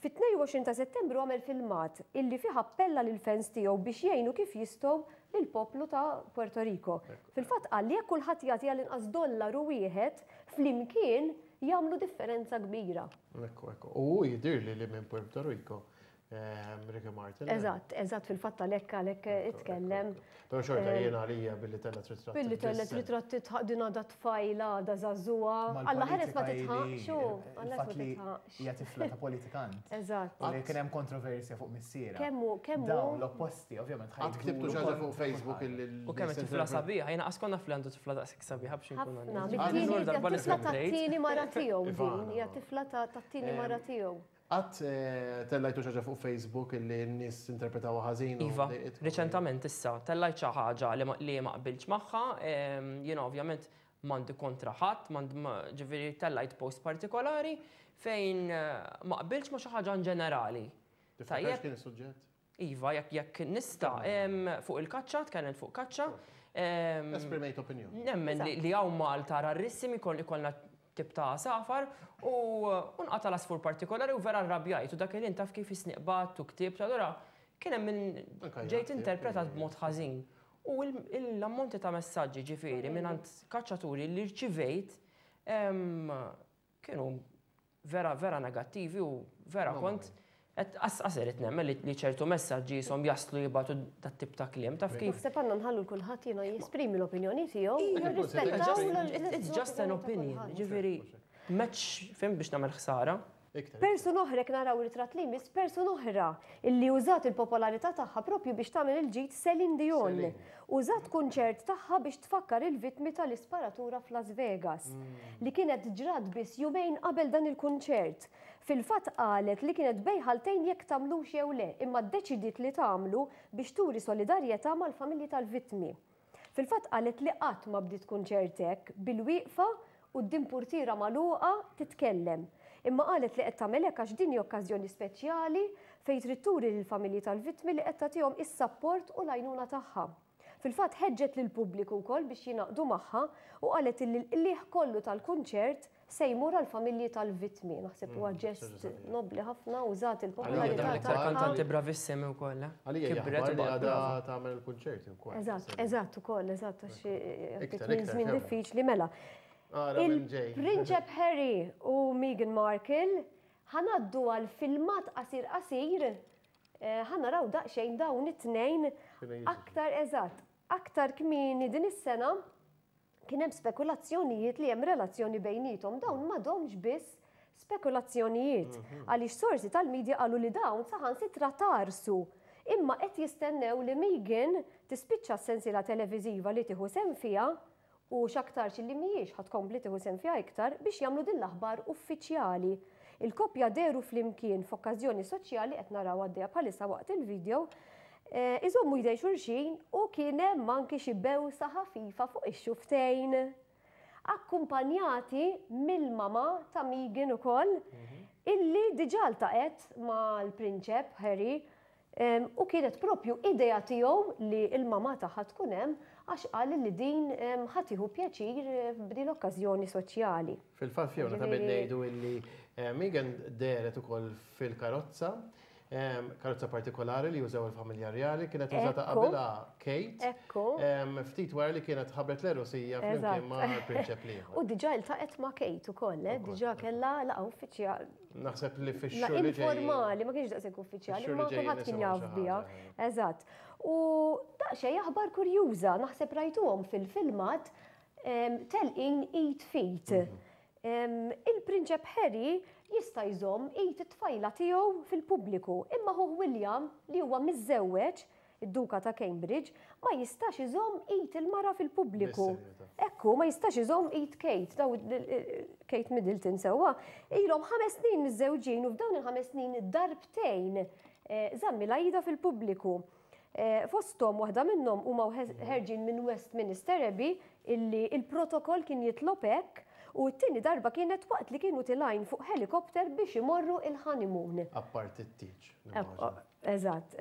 Fit-22 ta' Settembru għamel filmat illi fih appella lill-fans tiegħu biex jgħinu kif jistgħu lill-poplu ta' Puerto Rico. Fil-fatt qal li jekk kulħadd jagħti għall-inqas dollaru wieħed, flimkien jagħmlu differenza kbira. Ekku, ekku. U hu jidhirli li minn Puerto Rico. Ricky Martin. Eżatt, eżatt, fil-fatt għalhekk għalhekk itkellem. Però xorta jiena għalija billi tellet ritratt. Billi tellet ritratt titħaq din għadha tfajla, għadha żagħżugħa. Alla ħares ma titħaqx u. Alla ħares ma titħaqx. Hija tifla ta' politikant. Eżatt. U li kien hemm kontroversja fuq missierha. Kemm hu, kemm hu. Dawn l-opposti, ovvjament ħa. Qatt ktibtu xi ħaġa fuq Facebook illi. U kemm tifla sabiħa, jiena qas konna naf li għandu tifla daqshekk sabiħa biex inkun onest. Ħafna, mit-tieni, hija tifla tat-tieni mara tiegħu din, hija tifla tat-tieni mara tiegħu. Qatt tellajtu xi ħaġa fuq Facebook illi n-nies interpretawha ħażin? Iva, riċentament issa tellajt xi ħaġa li ma qbiltx magħha, jiena ovvjament m'għandi kontra ħadd, ġifieri tellajt post partikolari fejn ma qbiltx ma' xi ħaġa in ġenerali. Tiftakar x'kien is-suġġett? Iva, jekk jekk nista', fuq il-kaċċa, tkellimt fuq kaċċa. Esprimejt opinjoni. Nemmen li hawn Malta rarissimi ikollna tip ta' għasafar u nqata' l-għasfur partikolari u vera rrabjajt u dak il-ħin taf kif isni qbadt u ktibt allura kien hemm min ġejt interpretat b'mod ħażin. U l-ammonti ta' messaġġi ġifieri mingħand kaċċaturi li rċivejt kienu vera vera negattivi u vera kont qed qas irid nemmen li ċertu messaġġi jisom jaslu jibgħatu dat-tip ta' kliem taf kif. Naħseb għandna nħallu l-kulħadd jiena jesprimi l-opinjoni tiegħu u nirrispettaw It's just an opinion, ġifieri m'hemmx fim biex nagħmel ħsara. Persuna oħra, jekk naraw ritratt li jmiss, persuna oħra illi użat il-popolarità tagħha propju biex tagħmel il-ġid Celine Dion. Użat kunċert tagħha biex tfakkar il-vittmi tal-isparatura f'Las Vegas, li kienet ġrat biss jumejn qabel dan il-kunċert. Fil-fatt qalet li kienet bejn ħaltejn jekk tagħmlux jew le, imma ddeċidiet li tagħmlu biex turi solidarjetà mal-familji tal-vittmi. Fil-fatt qalet li qatt ma bdiet kunċert hekk, bil-wieqfa quddiem purtiera magħluqa titkellem. Imma qalet li qed tagħmel hekk għax din hi okkażjoni speċjali fejn trid turi lill-familji tal-vittmi li qed tagħtihom is-sapport u l-għajnuna tagħha. Fil-fatt ħeġġet lill-pubbliku wkoll biex jingħaqdu magħha u qalet illi l-qligħ kollu tal-kunċert se jmur għall-familji tal-vittmi. Naħseb huwa ġest nobbli ħafna użat il-popolarità tagħha. Kantanti bravissimi wkoll. Eh? Għalija kibret li għadha tagħmel il-kunċerti wkoll. Eżatt, eżatt ukoll, eżatt għax żmien diffiċli mela. Il-Prinċep Harry u Meghan Markle ħa ngħaddu għal filmat qasir qasir eh, ħa naraw daqsxejn dawn it-tnejn aktar eżatt, aktar kmieni din is-sena kien hemm spekulazzjonijiet li hemm relazzjoni bejnietom dawn m'għadhomx biss spekulazzjonijiet mhm. għaliex sorsi tal-medja qalu li dawn saħansitra tarsu imma qed jistennew li Meghan tispiċċa s-sensiela televiżiva li tieħu sehem fiha u x'aktarx illi mhijiex ħa tkompli tieħu sehem fiha iktar biex jagħmlu din l-aħbar uffiċjali. Il-koppja dehru flimkien f'okkażjoni soċjali qed naraw għaddejja bħalissa waqt il-video, iżommu jdejn xulxin u kien hemm anki xi bewsa ħafifa fuq ix-xufftejn. Akkumpanjati mill-mamà ta' Meghan ukoll, illi diġà ltaqgħet mal-Prinċep Harry U kienet propju idea tiegħu li l-mamà tagħha tkun hemm għax qal li din ħa tieħu pjaċir b'din l-okkażjoni soċjali. Fil-fatt Fiona ta' min ngħidu illi Meghan dehret ukoll fil-karozza, karozza partikolari li jużaw il-familja rjali, kienet użata qabilha Kate. Ekku. Ftit wara li kienet ħabbret l-għerusija flimkien ma' prinċep l-ieħor. U diġà iltaqgħet ma' Kate ukoll, diġà kellha laqgħa uffiċjali. Naħseb li fix-xhur li Informali, ma kienx daqshekk uffiċjali, ma kulħadd kien jaf biha. Eżatt. U daqsxejn aħbar kurjuża, naħseb rajtuhom fil-filmat telqin id f'id. Mhm. Il-Prinċep Harry jista' jżomm id it-tfajla tiegħu fil-pubbliku, imma ħuh William li huwa miżżewweġ Id-Duka ta' Cambridge ma jistax iżomm id il-mara fil-pubbliku. Ekku, ma jistax iżomm id Kate, daw Kate Middleton sewwa, ilhom ħames snin miżżewġin u f'dawn il-ħames snin darbtejn eh, żammilha idha fil-pubbliku. Eh, fosthom waħda minnhom huma ħerġin minn Westminster Abbey illi il-protokoll kien jitlob hekk u t-tieni darba kienet waqt li kienu tilgħin fuq helikopter biex imorru il-honeymoon. Apparti t-tieġ. Eżatt.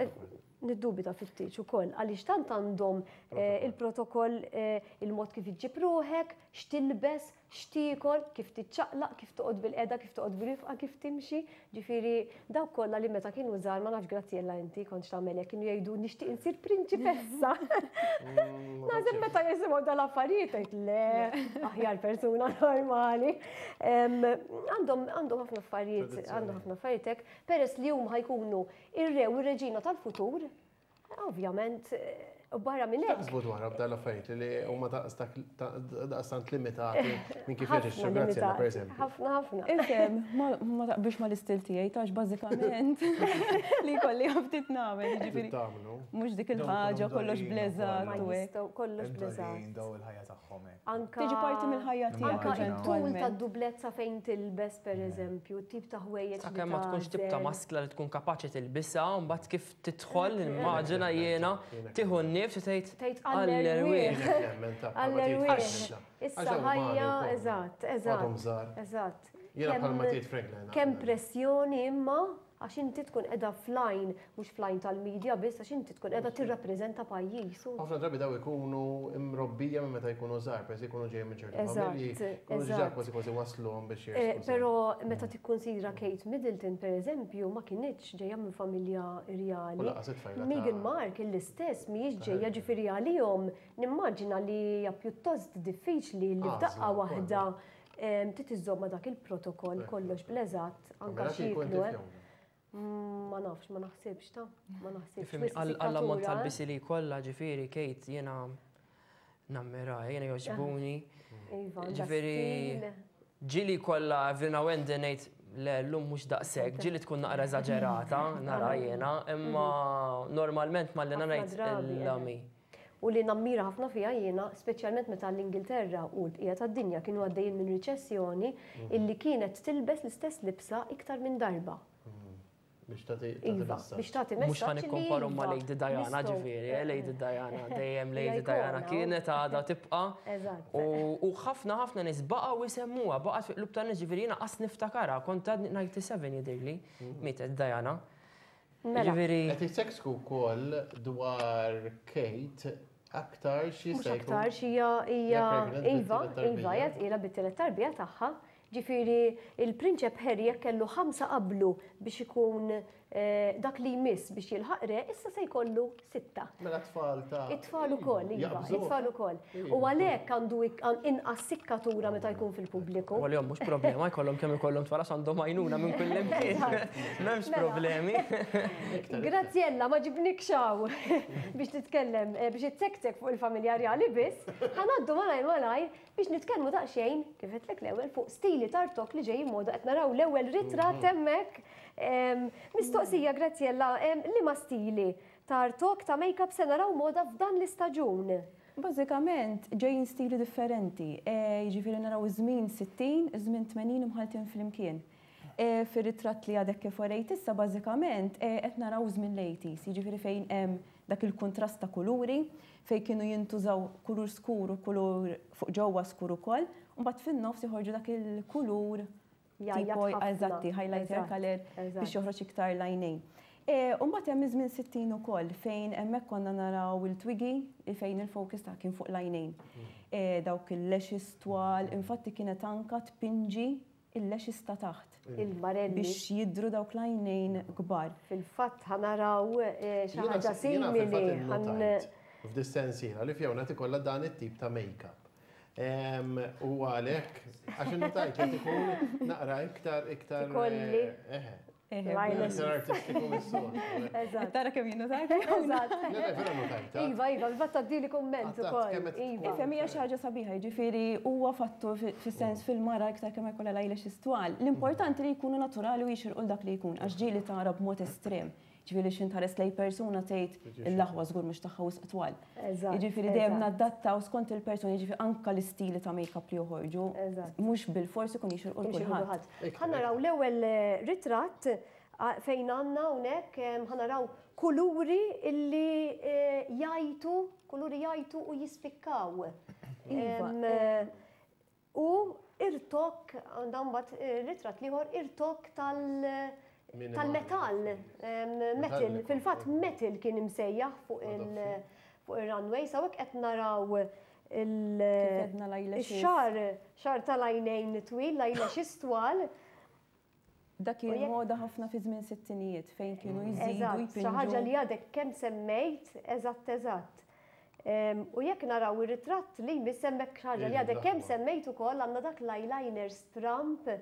Niddubita fit-tieġ ukoll għaliex tant għandhom eh, il-protokoll eh, il-mod kif iġġib ruħek, x'tilbes, x'tiekol, kif tiċċaqlaq, kif toqgħod bil-qeda, kif toqgħod bil-rifqa, kif timxi. Ġifieri dawk kollha li meta kienu żgħar ma nafx Graziella inti kontx tagħmel hekk kienu jgħidu nixtieq insir prinċipessa. Mm, Naħseb meta jisimgħu dal-affarijiet tgħid le, aħjar persuna normali. Għandhom għandhom ħafna affarijiet, għandhom ħafna affarijiet hekk, peress li huma ħajkunu Ir-re u r-reġina tal-futur, ovvjament, u barra minn hekk. Taħsbu dwar b'dan l-affarijiet li huma daqstant limitati minn kif jaġixxu Graziella pereżempju. Ħafna ħafna. Ifhem, ma taqbilx mal-istil tiegħi tax bażikament li jkolli ftit nagħmel, jiġifieri. Mhux dik il-ħaġa kollox bleżat u hekk. Kollox bleżat. Daw il-ħajja tagħhom hekk. Anka Tiġi parti mill-ħajja tiegħek Anka it-tul tad-dublezza fejn tilbes pereżempju, tip ta' ħwejjeġ li Sakemm ma tkunx tip ta' maskla li tkun kapaċi tilbisha, u mbagħad kif tidħol nimmaġina jiena tieħu n-nifs u tgħid Tgħid għall-erwieħ. Għall-erwieħ. Issa ħajja, eżatt, eżatt. Eżatt. Jiena bħalma tgħid Franklin. Kemm pressjoni imma. Għax inti tkun qiegħda fl-għajn, mhux fl-għajn tal-media biss, għax inti tkun qiegħda tirrappreżenta pajjiż. Ħafna drabi daw ikunu mrobbija minn meta jkunu żgħar, peress jkunu ġejjin minn ċertu familji, jkunu diġà kważi kważi wasluhom biex eh, jersqu. Però meta tikkunsidra Kate Middleton pereżempju ma kinitx ġejja minn familja rjali. Meghan Markle l-istess mhijiex ġejja ġifieri għalihom nimmaġina li hija pjuttost diffiċli li f'daqqa waħda Trid iżżomm ma' dak il-protokoll kollox bl-eżatt anke x'jieklu. Eh. Ma nafx, ma naħsibx ta' ma naħsibx. Għall-ammont tal-bisi li jkollha ġifieri Kate jiena nammira, jiena jogħġbuni. Iva, ġifieri ġieli kollha every now and then ngħid le llum mhux daqshekk, ġieli tkun naqra eżaġerata, nara jiena, imma normalment malli ngħid l-lami. U li nammira ħafna fiha jiena, speċjalment meta l-Ingilterra u l-bqija tad-dinja kienu għaddejjin minn riċessjoni, illi kienet tilbes l-istess libsa iktar minn darba. Biex tagħti Iva, biex tagħti messaġġ. Mhux ħa nikkomparu ma' Lady Diana ġifieri, eh, Lady Diana, dejjem Lady Diana kienet għadha tibqa'. Eżatt. U ħafna ħafna nies baqgħu jsemmuha, baqgħet fi qlub tan-nies ġifieri jiena qas niftakarha, kont għadni 97 jidhirli, mietet Diana. Mela. Ġifieri. Qed jitseksku wkoll dwar Kate aktarx jista' jkun. Mhux aktarx hija hija iva, iva hija tqila bit-tielet tarbija tagħha. Ġifieri il-Prinċep Harry jekk kellu ħamsa qablu biex ikun dak li jmiss biex jilħaq re, issa se jkollu sitta. Mela t-tfal ta' It-tfal ukoll, iva, it-tfal ukoll. U għalhekk għandu inqas sikkatura meta jkun fil-pubbliku. U għalihom mhux problema jkollhom kemm ikollhom tfal għax għandhom għajnuna minn kull imkien. M'hemmx mela. problemi. Graziella, ma ġibnikx hawn biex titkellem eh, biex ittektek fuq il-familja rjali biss, ħanaddu malajr malajr biex nitkellmu daqsxejn kif għedtlek l-ewwel fuq stili tartok li ġejjin moda qed naraw l-ewwel ritratt mhm. hemmhekk. Mistoqsija Graziella, liema stili ta' rtok ta' makeup se naraw moda f'dan l-istaġun? Bażikament ġejjin stili differenti, jiġifieri naraw iż-żmien 60, iż-żmien 80 imħalltin flimkien. Fir-ritratt li għadek kif urejt issa bażikament qed naraw żmien l-eighties, jiġifieri fejn hemm dak il-kuntrast ta' kuluri, fejn kienu jintużaw kulur skur u kulur fuq ġewwa skur ukoll, u mbagħad fin-nofs joħorġu dak il-kulur Jgħajjat ħafna. Eżatti, highlighter color biex joħroġ iktar l-għajnejn. E, u mbagħad hemm iż-żmien 60 ukoll fejn hemmhekk konna naraw il-twiggy fejn il-focus ta' kien fuq l-għajnejn. E, dawk il-lashes twal, infatti kienet anka tpinġi il-lashes ta' taħt. Il-marelli. Biex jidru dawk l-għajnejn kbar. Fil-fatt ħanaraw e, xi ħaġa simili. F'dis-sensiela li Fiona tikollha dan it-tip ta' make-up. U għalhekk, għax innotajt li tkun naqra iktar iktar. Kolli. Eh, iktar artistiku mis-soltu. Eżatt. Tara kemm jien notajt. Eżatt. Vera notajt. Iva, iva, fatt għaddili kumment ukoll. Iva. Ifhem hija xi ħaġa sabiħa, jiġifieri huwa fattur fis-sens fil-mara iktar kemm jkollha l-eyelashes twal. L-importanti li jkunu naturali u jixirqu 'l dak li jkun, għax ġieli tara b'mod estrem. Ġifieri x'int tħares lejn persuna tgħid il-aħwa żgur mhux tagħha wisq twal. Jiġifieri dejjem nadattaw skont il-persuna, jiġifieri anke l-istili ta' make-up li joħorġu mhux bilfors ikun jixirqu 'l kulħadd. Ħa naraw l-ewwel ritratt fejn għandna hawnhekk ħa naraw kuluri illi jgħajtu, kuluri jgħajtu u jispikkaw. Iva. U irtokk, għandha mbagħad ritratt l-ieħor, irtokk tal tal-metall, metal, fil-fatt metal kien imsejjaħ fuq il fuq ir-runway, sa hekk qed naraw il-xagħar, xagħar tal-għajnejn twil, l-eyelashes twal. Dak kien moda ħafna fi żmien sittinijiet fejn kienu jżidu Eżatt, xi ħaġa li għadek kemm semmejt, eżatt eżatt. U jekk naraw ir-ritratt li jmiss hemmhekk xi ħaġa li għadek kemm semmejt ukoll għandna dak l-eyeliner stramp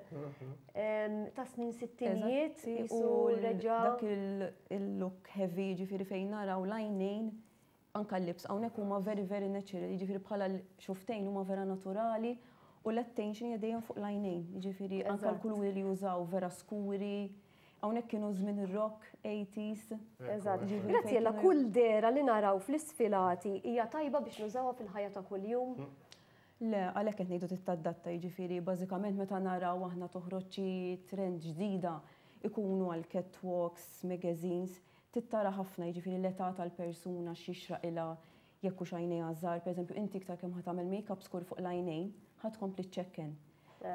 ta' snin sittinijiet u reġa' dak il-look heavy ġifieri fejn naraw l-għajnejn Anka l-lips hawnhekk huma very very natural, jiġifieri bħala xuftejn huma vera naturali u l-attention hija dejjem fuq l-għajnejn, jiġifieri anka l-kuluri li jużaw vera skuri. Hawnhekk kienu żmien ir-rock, 80s. Eżatt. Graziella, kull dehra li naraw fl-isfilati hija tajba biex nużawha fil-ħajja ta' kuljum? Le, għalhekk qed ngħidu trid tadatta, jiġifieri bażikament meta naraw aħna toħroġ xi trend ġdida ikunu għal catwalks, magazines, Trid tara ħafna, jiġifieri l-età tal-persuna, x'jixraqilha, jekk hux għajnejha żgħar, pereżempju inti iktar kemm ħa tagħmel make-up skur fuq l-għajnejn, ħa tkompli ċċekken.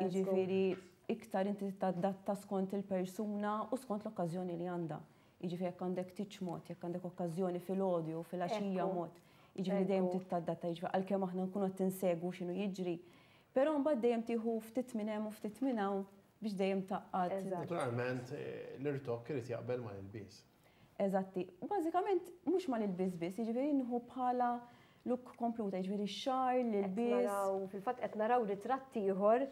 Jiġifieri iktar inti tadatta skont il-persuna u skont l-okkażjoni li għandha. Jiġifieri jekk għandek tieġ mod, jekk għandek okkażjoni filgħodu jew filgħaxija mod. Jiġifieri dejjem trid tadatta, jiġifieri għalkemm aħna nkunu qed insegwu x'inhu jiġri, però mbagħad dejjem tieħu ftit minn hemm u ftit minn hawn biex dejjem tgħaqqad. Naturalment, l-irtokk irid jaqbel mal-ilbies. Eżatti. Bażikament mhux mal-ilbies biss, jiġifieri nieħu bħala look kompluta, jiġifieri x-xagħar, l-ilbies. Fil-fatt qed naraw ritratt ieħor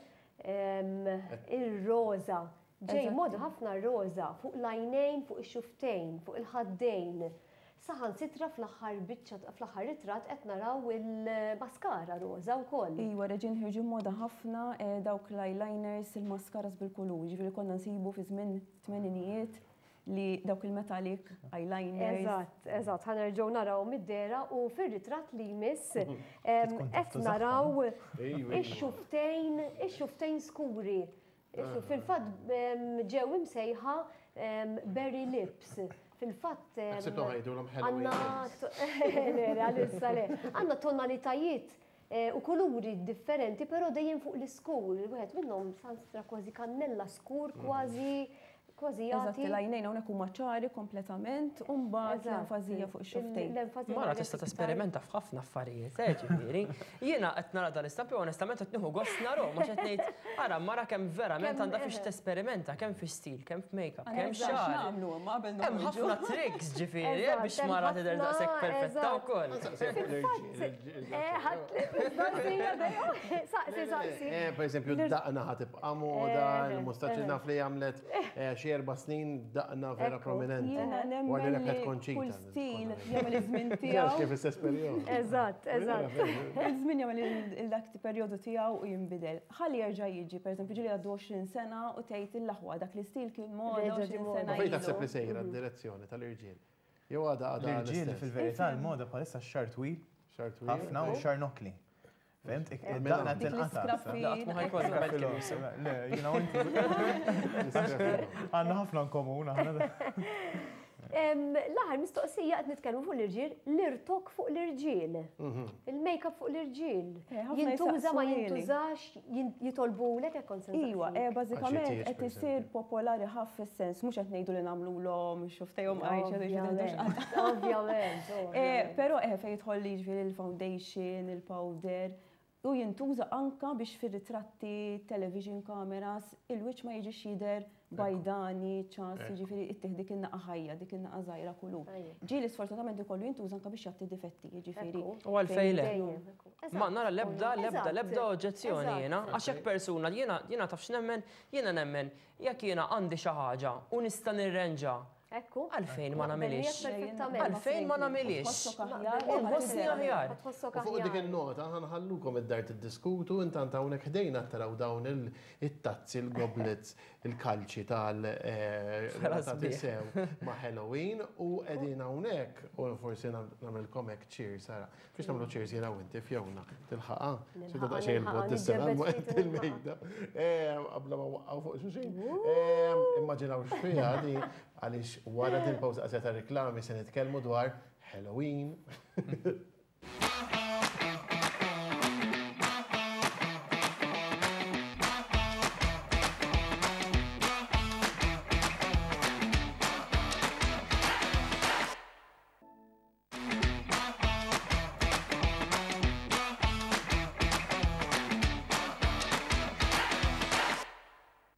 ir-roża. Ġej moda ħafna r-roża fuq l-għajnejn, fuq ix-xufftejn, fuq il-ħaddejn. Saħansitra fl-aħħar biċċa, fl-aħħar ritratt qed naraw il-maskara roża wkoll. Iva, reġgħin ħirġu moda ħafna dawk l-eyeliners, il-mascaras bil-kulur, jiġifieri konna nsibu fi żmien tmeninijiet li dawk il-metallic eyeliners. Eżatt, eżatt, ħa nerġgħu narawhom mid-dehra u fir-ritratt li jmiss qed naraw ix-xufftejn, ix-xufftejn skuri. Fil-fatt ġew imsejħa berry lips. Fil-fatt għandna għalissa le, għandna tonalitajiet u kuluri differenti, però dejjem fuq l-iskur. Wieħed minnhom sanstra kważi kannella skur, kważi kważi jagħti. Eżatt, l-għajnejn hawnhekk huma ċari kompletament u mbagħad l-enfasi hija fuq ix-xufftejn. Mara tista' tesperimenta f'ħafna affarijiet, eh, ġifieri. Jiena qed nara dal-istampi u onestament qed nieħu gost narahom għax qed ngħid ara mara kemm verament għandha fiex tesperimenta, kemm fi stil, kemm f'makeup, kemm xagħar. Hemm ħafna tricks ġifieri eh, biex mara tidher daqshekk perfetta wkoll. Saqsi, saqsi. Eh, per eżempju, daqna ħa tibqa' moda, il-mustaċċi naf li għamlet eh, xi erba' snin daqna vera prominenti. Jiena nemmen li kull stil jagħmel iż-żmien tiegħu. Kif istess perjodu. Eżatt, eżatt. Il-żmien jagħmel il-dak perjodu tiegħu u jinbidel. Ħalli jerġa' jiġi, pereżempju, ġieli għaddu 20 sena u tgħid il-aħwa dak l-istil kien moda 20 sena. Fejn taħseb li sejra d-direzzjoni tal-irġiel? Jew għadha għadha. L-irġiel fil-verità l-moda bħalissa x-xagħar twil. Xagħar twil. Ħafna u xagħar nokkli. Fhimt? Id-daqna tinqata'. Le, jiena u inti. Għandna ħafna in komun aħna. L-aħħar mistoqsija qed nitkellmu fuq l-irġiel, l-irtok fuq l-irġiel. Mhm. Il-makeup fuq l-irġiel. Eh, jintuża ma jintużax, jitolbulek hekk kont Iwa, eh, bażikament qed isir popolari ħaf fis-sens mhux qed ngħidu li nagħmluhom xuftejhom għajx. Ovvjament. Eh, però eh fejn jidħol jiġifieri il-foundation, il-powder, u jintuża anka biex fir-ritratti, television cameras, il-wiċċ ma jiġix jidher bajdani, ċass, jiġifieri ittih dik in-naqa ħajja, dik in-naqa żgħira kulur. Ġieli sfortunatament ikollu jintuża anka biex jgħatti difetti, jiġifieri. U għalfejn le? Ma nara l-ebda, l-ebda, l-ebda oġġezzjoni jiena, għax jekk persuna, jiena, jiena taf x'nemmen, jiena nemmen, jekk jiena għandi xi ħaġa u nista' nirrenġa Ekku. Għalfejn ma nagħmilhiex? Perfettament. Għalfejn ma nagħmilhiex? U nħossni aħjar. Tħossok U fuq dik aħjar. in-nota ħa nħallukom id-dar tiddiskutu, intant hawnhekk ħdejna taraw dawn it-tazzi, il-goblets, il-kalċi tal Vera relatati sbieħ. sew ma' Halloween u qegħdin hawnhekk u forsi nagħmilkom hekk cheers ara. Biex nagħmlu cheers jiena u inti Fiona, tilħaqha? Xi ta' daqsxejn il-bogħod tis-sena imma il-mejda. Qabla ma waqqgħu fuq xulxin. Immaġinaw x'fiha di għaliex wara din pawża qasira ta' riklami se nitkellmu dwar Halloween.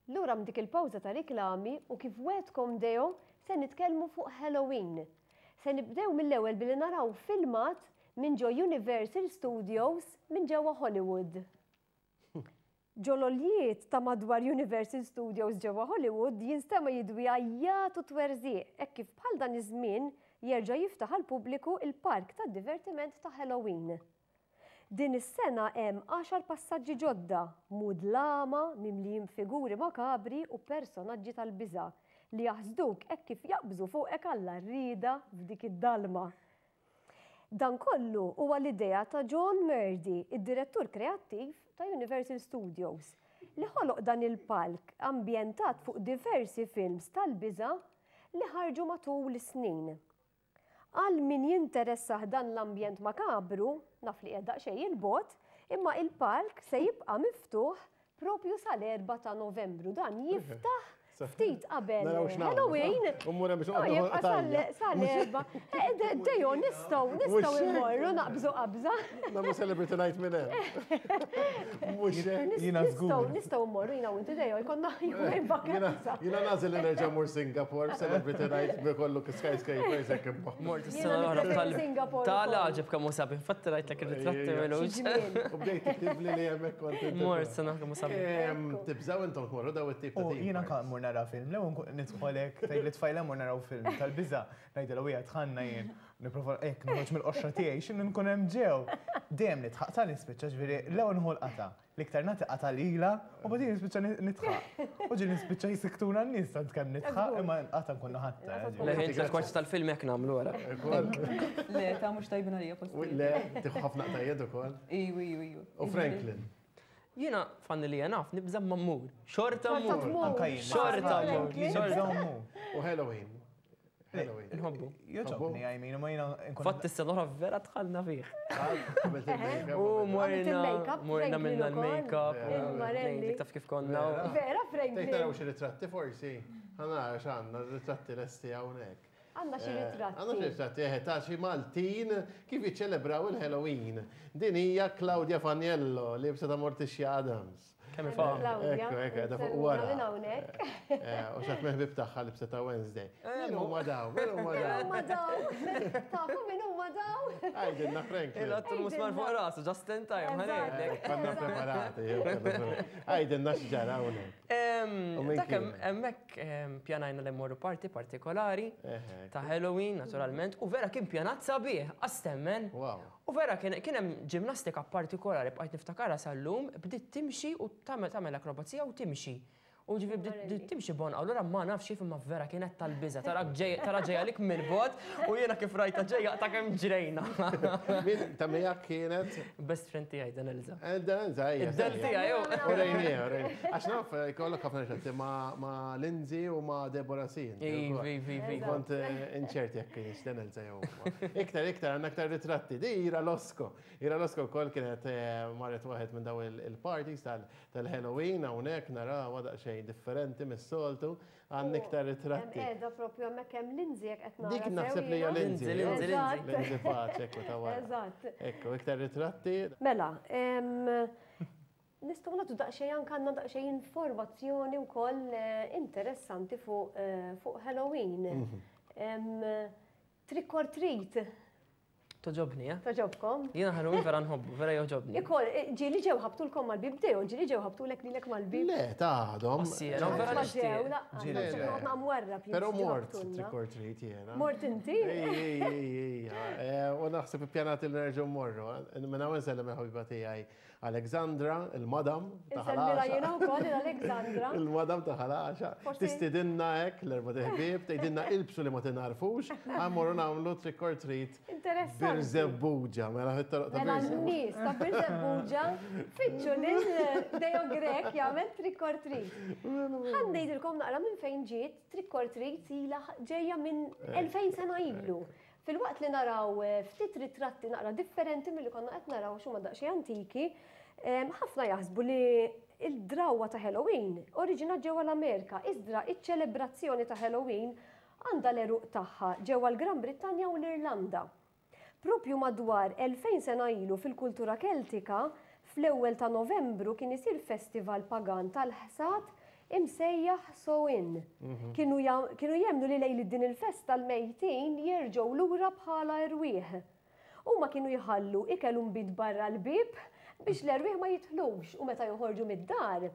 Lura minn dik il-pawża ta' riklami u kif wegħdkom Deo se nitkellmu fuq Halloween. Se nibdew mill-ewwel billi naraw filmat minn ġo Universal Studios minn ġewwa Hollywood. Ġo l-għoljiet ta' madwar Universal Studios ġewwa Hollywood jinstema' jidwi għajjat u twerżiq hekk kif bħal dan iż-żmien jerġa' jiftaħ għall-pubbliku l-park tad-divertiment ta' Halloween. Din is-sena hemm għaxar passaġġi ġodda, mudlama, mimlijin b'figuri makabri u personaġġi tal-biża' li jaħsduk hekk kif jaqbżu fuqek għall-għarrieda f'dik id-dalma. Dan kollu huwa l-idea ta' John Murdy, id-direttur kreattiv ta' Universal Studios, li ħoloq dan il-palk ambjentat fuq diversi films tal-biża' li ħarġu matul is-snin. Għal min jinteressah dan l-ambjent makabru, naf li qiegħed daqsxejn 'il bogħod, imma il-palk se jibqa' miftuħ Propju sal-4 ta' Novembru. Dan jiftaħ ftit qabel Halloween. U jibqa' sal-4. Deo, nistgħu nistgħu immorru naqbżu qabża. Nagħmlu celebrity night minn hemm. Mhux hekk. Jiena żgur. Nistgħu mmorru jiena u inti Deo jkollna jumejn vakanza. Jiena nagħżel li nerġa' mmur Singapore celebrity night bi kollu skyscrapers hekk imma. Mort is-sena l-oħra tal- tal-għaġeb kemm hu sabiħ. Infatti rajtlek ir-ritratti milux. U bdejt tiktibli li hemmhekk kont. Mort sena kemm hu sabiħ. Tibżgħu intom tmorru daw it-tip ta' Jiena anke mmur nara film, l-ewwel nidħolek tgħid lit-tfajla mmur naraw film tal-biża', ngħidilha u hija dħalna jien. Nipprova hekk noħroġ mill-qoxra tiegħi x'inhu nkun hemm ġew. Dejjem nidħaq ta' nispiċċa ġifieri l-ewwel nħu l-qata'. L-iktar nagħti qata' lilha u mbagħad jien nispiċċa nidħaq. U ġieli nispiċċa jsiktuna n-nies tant kemm nidħaq imma l-qata' nkun ħadtha. Le ħin tal-kwarti tal-film hekk nagħmlu wara. Le, ta' mhux tajbin għalija postijiet. Le, tieħu ħafna qtajjiet ukoll. Iju, iju, iju. U Franklin. Jiena fanni li naf nibża' ma mmur. Xorta mmur. Anka jien. Xorta mmur. Xorta mmur. U Halloween. Halloween. Nħobbu. Joġobni, I mean, ma jiena nkun. Fatt is-sena l-oħra vera dħalna fih. U morna, morna minna l-makeup. Il-marelli. Taf kif konna. Vera, Franklin. Tgħid naraw xi ritratti forsi? Ħa nara x'għandna ritratti lesti hawnhekk. Għandna xi ritratti. Għandna xi ritratti, eħe, ta' xi Maltin kif jiċċelebraw il-Halloween. Din hija Claudia Faniello, liebsa ta' Morticia Addams. Kemm ifaqa. Ekku, ekku, qiegħda fuq wara. Minn hawnhekk. U x'għad meħbib tagħha libsa ta' Wednesday. Min huma daw? Min huma daw? Min huma daw? Tafu min huma daw? Għidilna Franklin. Il-għattu l-musmar fuq rasu, just in time, ħanejlek. Konna preparati. Għidilna x'ġara hawnhekk. Dak hemmhekk pjanajna li mmorru party partikolari ta' Halloween, naturalment, u vera kien pjanat sabiħ, għastemmen. Wow. U vera kien kien hemm ġimnastika partikolari bqajt niftakarha sal-lum, bdiet timxi u tagħmel tagħmel akrobazija u timxi. U ġifieri bdiet bdiet timxi b'għonqha, allura ma nafx kif imma vera kienet tal-biża', tarak ġej tara ġejja għalik mill-bogħod u jiena kif rajtha ġejja ta' kemm ġrejna. Min ta' miegħek kienet? Best friend tiegħi Dan Elza. Eh, Dan Elza, ejja. Id-del tiegħi hu. U rejniha, u rejniha. Għax naf jkollok ħafna ritratti ma' ma' Lindsay u ma' Deborah Sin. Iva, iva, iva. Kont inċert jekk kienx Dan Elza jew. Iktar, iktar, għandna iktar ritratti. Di Ira Losco. Ira Losco wkoll kienet eh, marret waħed minn daw il-parties tal-Halloween hawnhekk narawha daqsxejn differenti mis-soltu. Għandna iktar ritratti. Qiegħda propju hemmhekk hemm Lindsay jekk qed nara. Dik naħseb li hija Lindsay. Lindsay, Lindsay. Lindsay Pace, ekku ta' wara. Eżatt. Ekku, iktar ritratti. Mela, nistgħu nagħtu daqsxejn anke għandna daqsxejn informazzjoni wkoll eh, interessanti fuq eh, fuq Halloween. Mhm. Trick or treat. Toġobni, eh? Toġobkom? Jiena Halloween vera nħobbu, vera joġobni. Ikol, eh, ġieli ġew ħabtulkom mal-bib dew, ġieli ġew ħabtulek lilek mal-bib. Le, ta' għadhom. Ossiera, vera nixtieq. Ġieli ġew. Però mort trick or treat jiena. Mort inti? Ej, ej, ej, eh, u naħseb ippjanat il nerġgħu morru. Minn hawn insellem il-ħabiba tiegħi Alexandra, il-madam ta' Ħal Insellmilha jiena wkoll lil Alexandra. Il-madam ta' Ħal Għaxaq. Tistidinna hekk l-erba' ħbieb, tgħidilna ilbsu li ma tingħarfux, ħa mmorru nagħmlu trick or treat. Interessanti. Birżebbuġa, mela fit-toroq ta' Mela n-nies ta' Birżebbuġa fittxu lil Deo Grech jagħmel trick or treat. Ħa ngħidilkom naqra minn fejn ġiet trick or treat ilha ġejja minn 2000 sena ilu. Filwaqt li naraw ftit ritratti naqra differenti milli konna qed naraw għax huma daqsxejn antiki, ħafna jaħsbu li l-drawwa ta' Halloween oriġinat ġewwa l-Amerika, iżdra iċ-ċelebrazzjoni ta' Halloween għandha l-għeruq tagħha ġewwa l-Gran Brittanja u l-Irlanda. Proprju madwar 2000 sena ilu fil-kultura Keltika, fl-ewwel ta' Novembru kien isir festival pagan tal-ħsad imsejjaħ Samhain. Kienu kienu jemmnu li lejliet din il-festa l-mejtin jerġgħu lura bħala erwieħ. Huma kienu jħallu ikel u nbid barra l-bieb biex l-erwieħ ma jidħlux u meta joħorġu mid-dar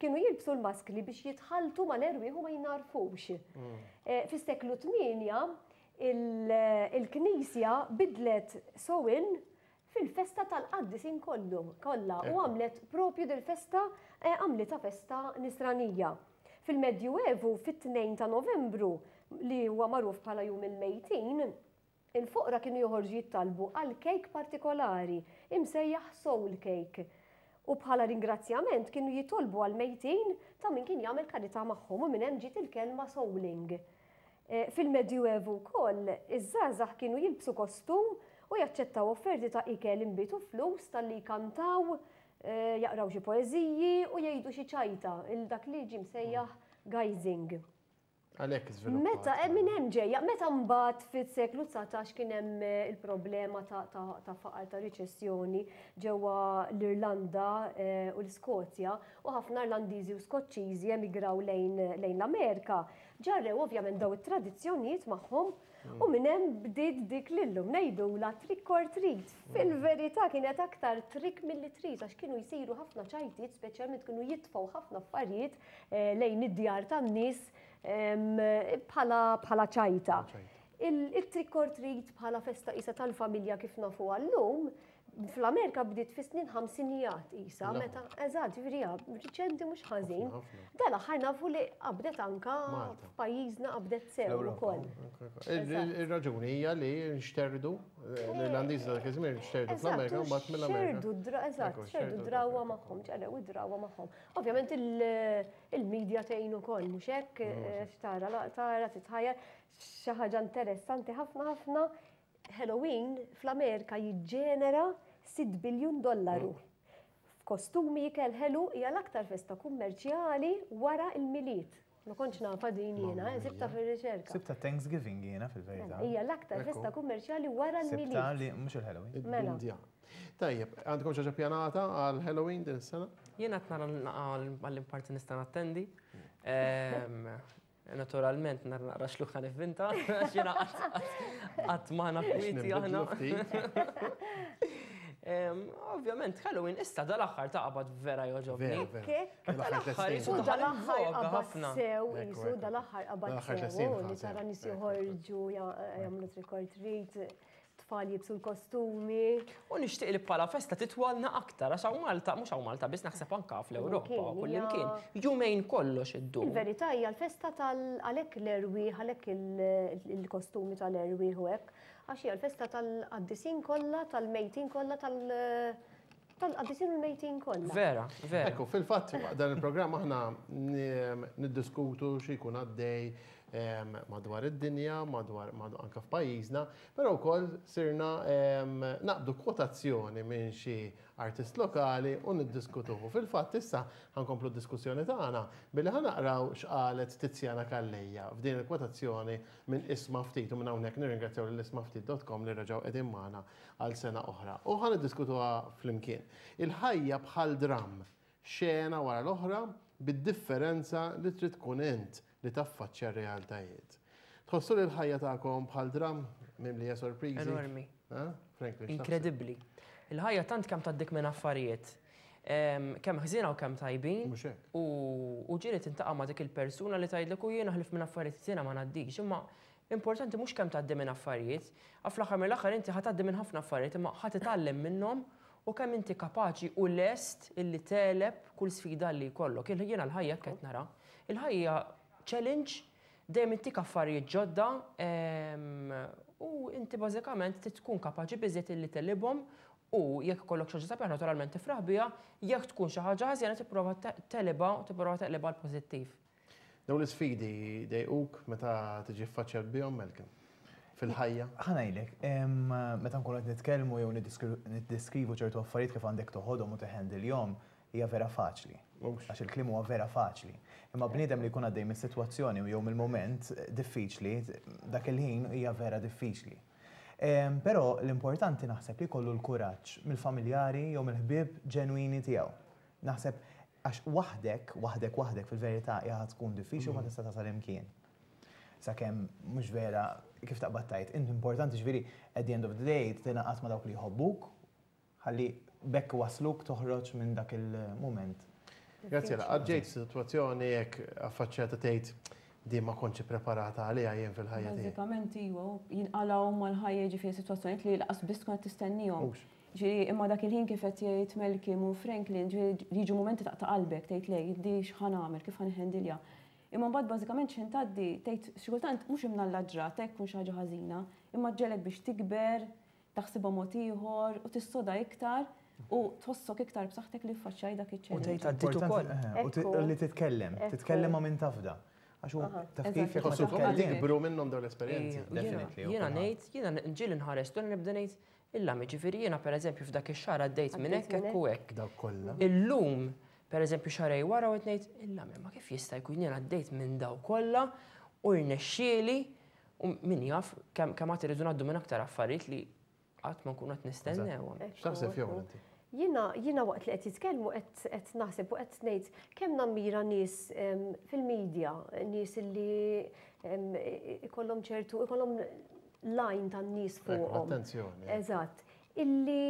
kienu jilbsu l-maskli biex jitħalltu mal-erwieħ u ma jingħarfux. Fis-seklu 8 il-Knisja bidlet Samhain fil-festa tal-qaddisin kollu, kollha u għamlet propju dil-festa għamlitha festa nisranija. Fil-Medjuevu, fit-2 ta' Novembru, li huwa magħruf bħala Jum il-Mejtin, il-foqra kienu joħorġu jittalbu għal kejk partikolari, imsejjaħ soul cake. U bħala ringrazzjament kienu jitolbu għall-mejtin ta' min kien jagħmel karità magħhom u minn hemm ġiet il-kelma souling. Fil-Medjuevu wkoll, iż-żgħażagħ kienu jilbsu kostum u jaċċettaw offerti ta' ikel, inbid u flus talli jkantaw Jaqraw xi poeżiji u jgħidu xi ċajta, il dak li ġie msejjaħ guising. Għalhekk iżviluppat. Meta minn hemm ġejja, meta mbagħad fis-seklu 19 kien hemm il-problema ta' faqar ta' riċessjoni ġewwa l-Irlanda u l-Iskozja u ħafna Irlandiżi u Skoċċiżi emigraw lejn l-Amerika, ġarrew ovvjament daw it-tradizzjonijiet magħhom u minn hemm bdiet dik li llum ngħidulha trick or treat. Fil-verità kienet aktar trick milli treat għax kienu jsiru ħafna ċajtiet, speċjalment kienu jitfgħu ħafna affarijiet lejn id-djar tan-nies bħala ċajta. Il-trick or treat bħala festa qisha tal-familja kif nafuha llum, fl-Amerika bdiet fis-snin ħamsinijat qisha, meta, eżatt, ġifieri hija riċenti mhux ħażin. Dal-aħħar nafu li qabdet anka f'pajjiżna qabdet sew ukoll. Ir-raġuni hija li nxterdu, l-Irlandiżi dak iż-żmien nxterdu fl-Amerika u mbagħad mill-Amerika. Eżatt, xerdu drawwa magħhom, ġerew id-drawwa magħhom. Ovvjament il-media tgħin ukoll, mhux hekk, x'tara, tara, titħajjar, xi ħaġa interessanti ħafna ħafna. Halloween fl-Amerika jiġġenera 6 biljun dollaru. F'kostumi ikel ħelu hija l-aktar festa kummerċjali wara l-Milied. Ma kontx nafha din jiena, sibtha fir-riċerka. Sibtha Thanksgiving jiena fil-verità. Hija l-aktar festa kummerċjali wara l-Milied. Sibtha li mhux il-Halloween. Mela. Tajjeb, għandkom xi ħaġa pjanata għal Halloween din is-sena? Jiena qed nara għall-imparti nista' nattendi. Naturalment, nar naqra xluħ ħan ivvinta, għax jiena qatt ma kwieti aħna. Ovvjament, Halloween issa dal-aħħar ta' qabad vera joġobni. Dal-aħħar jisu dal-aħħar qabad sew, jisu dal-aħħar qabad sew, li tara nies joħorġu jagħmlu trick or treat. Tfal jibsu l-kostumi. U nixtieq li bħala festa titwalna aktar, għax hawn Malta, mhux hawn Malta biss naħseb anka fl-Ewropa, kullimkien. Jumejn kollox iddum. Il-verità hija l-festa tal għalhekk l-erwieħ, għalhekk il-kostumi tal-erwieħ u hekk, għax hija l-festa tal-qaddisin kollha, tal-mejtin kollha, tal-qaddisin u l-mejtin kollha. Vera, vera. Ekku, fil-fatt dan il-programm aħna niddiskutu xi jkun għaddej madwar id-dinja, madwar anka f'pajjiżna, però wkoll sirna naqbdu kwotazzjoni minn xi artist lokali u niddiskutuhu. Fil-fatt issa ħankomplu d-diskussjoni tagħna billi ħanaqraw x'qalet Tiziana Calleja f'din il-kwotazzjoni minn Isma' Ftit u minn hawnhekk nirringrazzjaw lil ismaftit dot com li reġgħu qegħdin magħna għal sena oħra. U ħa niddiskutuha flimkien. Il-ħajja bħal dramm, xena wara l-oħra bid-differenza li trid tkun int li taffaċċja r-realtajiet. Tħossu li l-ħajja tagħkom bħal dramm mimlija sorpriżi? Enormi. Ha? Franklin, x'taħseb? Inkredibbli. Il-ħajja tant kemm tgħaddik minn affarijiet, kemm ħżiena u kemm tajbin. Mhux hekk. U ġieli tintaqa' ma' dik il-persuna li tgħidlek u jiena ħlif minn affarijiet ħżiena ma ngħaddix, imma importanti mhux kemm tgħaddi minn affarijiet, għax fl-aħħar mill-aħħar inti ħa tgħaddi minn ħafna affarijiet imma ħa titgħallem minnhom u kemm inti kapaċi u lest illi tegħleb kull sfida li jkollok. Jiena l-ħajja hekk qed nara. Il-ħajja challenge, dejjem intik affarijiet ġodda, u inti bażikament trid tkun kapaċi biżejjed illi tegħlibhom u jekk ikollok xi ħaġa sabiħa naturalment tifraħ biha, jekk tkun xi ħaġa ħażina tipprova tegħlibha u tipprova teqlibha għal pożittiv. Dawn l-isfidi dejquk meta tiġi ffaċċjat bihom, Malcolm? Fil-ħajja? Ħa ngħidlek, meta nkunu qed nitkellmu jew niddeskrivu ċertu affarijiet kif għandek toħodhom u teħendilhom, hija vera faċli. Mhux. Għax il-kliem huwa vera faċli. Imma bniedem li jkun għaddej mis-sitwazzjoni jew mill-mument diffiċli, dak il-ħin hija vera diffiċli. Però l-importanti naħseb li jkollu l-kuraġġ mill-familjari jew mill-ħbieb ġenwini tiegħu. Naħseb għax waħdek, waħdek, waħdek fil-verità hija tkun diffiċli u ma tista' tasal imkien. Sakemm mhux vera kif taqbad tajt, inti importanti ġifieri at the end of the day tingħaqad ma' dawk li jħobbuk, ħalli bekk wasluk toħroġ minn dak il-mument. Grazie, għadġejt situazzjoni jekk affaċċjata tgħid di ma kontx preparata għaliha jien fil-ħajja tiegħi. Bażikament iva, jinqalgħu mal-ħajja ġifieri sitwazzjonijiet li laqas biss tkun qed tistennihom. Mhux. Ġifieri imma dak il-ħin kif qed jgħid Malcolm u Franklin, ġifieri jiġu mumenti taqta' qalbek tgħid lej, di x'ħa nagħmel, kif ħa nħendilja. Imma mbagħad bażikament x'ħin tgħaddi tgħid xi kultant mhux imnalla ġrat hekk tkun xi ħaġa ħażina, imma ġġelek biex tikber, taħsibha mod ieħor u tissoda iktar u tħossok iktar b'saħħtek li ffaċċjaj dak iċ-challenge. U tgħid għaddit ukoll. Importanti, u li titkellem, titkellem ma' min tafda. Għax hu taf kif jekk ma Tħossok titkellem. tikbru minnhom dawn l-esperjenzi. Ejja, Definitely, u jiena kulħadd. ngħid, jiena nġieli nħares tul nibda ngħid, Illa, jiġifieri jiena pereżempju f'dak ix-xahar għaddejt minn hekk hekk u hekk. Dawk kollha. Illum, pereżempju xahrejn wara u qed ngħid, illa ma kif jista' jkun jien għaddejt minn daw kollha u rnexxieli u min jaf kemm kemm għad irridu ngħaddu minn aktar affarijiet li qatt ma nkunu qed nistennewhom. X'taħseb Fiona inti? Jiena jiena waqt li qed jitkellmu qed qed naħseb u qed ngħid kemm nammira nies fil-media, nies li ikollhom ċertu ikollhom l-għajn tan-nies fuqhom. Attenzjoni. Eżatt. Illi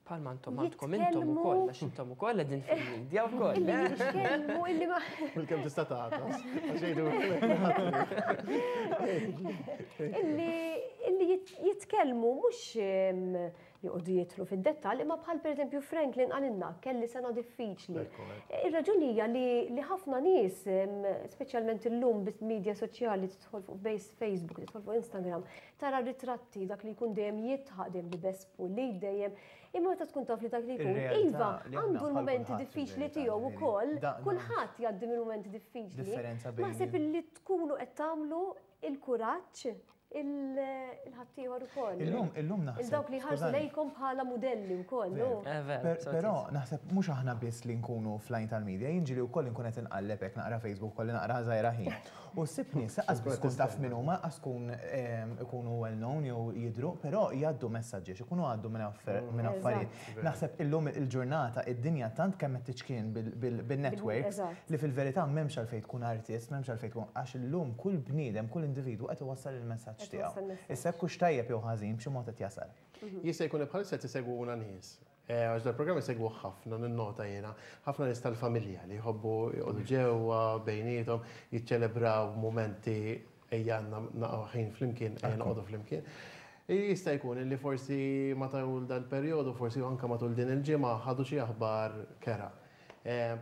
Palma intom għandkom intom ukoll, għax intom ukoll qegħdin fil-media wkoll. Illi jitkellmu illi ma. Bil-kemm tista' tagħtas. Għax jgħidu. Illi illi jitkellmu mhux joqogħdu jidħlu fid-dettall, imma bħal pereżempju Franklin qalilna kelli sena diffiċli. Ir-raġuni hija li ħafna nies, speċjalment illum bis-media soċjali tidħol fuq Facebook, tidħol fuq Instagram, tara ritratti dak li jkun dejjem jidħaq, dejjem libes pulit, dejjem Imma meta tkun taf li dak li jkun, iva, għandu l-mumenti diffiċli tiegħu wkoll, kulħadd jgħaddi minn mumenti diffiċli. Naħseb illi tkunu qed tagħmlu il-kuraġġ il-ħaddieħor ukoll. Illum, illum naħseb. Il-dawk li ħarsu lejkom bħala mudelli wkoll. Però naħseb mhux aħna biss li nkunu fl-għajn tal-media, jien ġieli wkoll inkun qed inqalleb hekk naqra Facebook kolli naqra żgħira ħin. U ssib nies lanqas biss tkun taf min huma, lanqas tkun ikunu well known jew jidhru, però jgħaddu messaġġi għax ikunu għaddu minn affarijiet. Naħseb illum il-ġurnata id-dinja tant kemm qed tiċkien bin-networks li fil-verità m'hemmx għalfejn tkun artist, m'hemmx għalfejn tkun għax illum kull bniedem, kull individwu qed iwassal il-messaġġ tiegħu. Issa jekk hux tajjeb jew ħażin b'xi mod qed jasal. Jista' jkun li bħalissa qed isegwuna nies. Għax dal-programm isegwuh ħafna, ninnota jiena, ħafna nies tal-familja li jħobbu joqogħdu ġewwa bejniethom, jiċċelebraw mumenti ejja għandna naqgħu ħin flimkien, ejja noqogħdu flimkien. Jista' jkun li forsi matul dal-perjodu, forsi anke matul din il-ġimgħa ħadu xi aħbar kerha.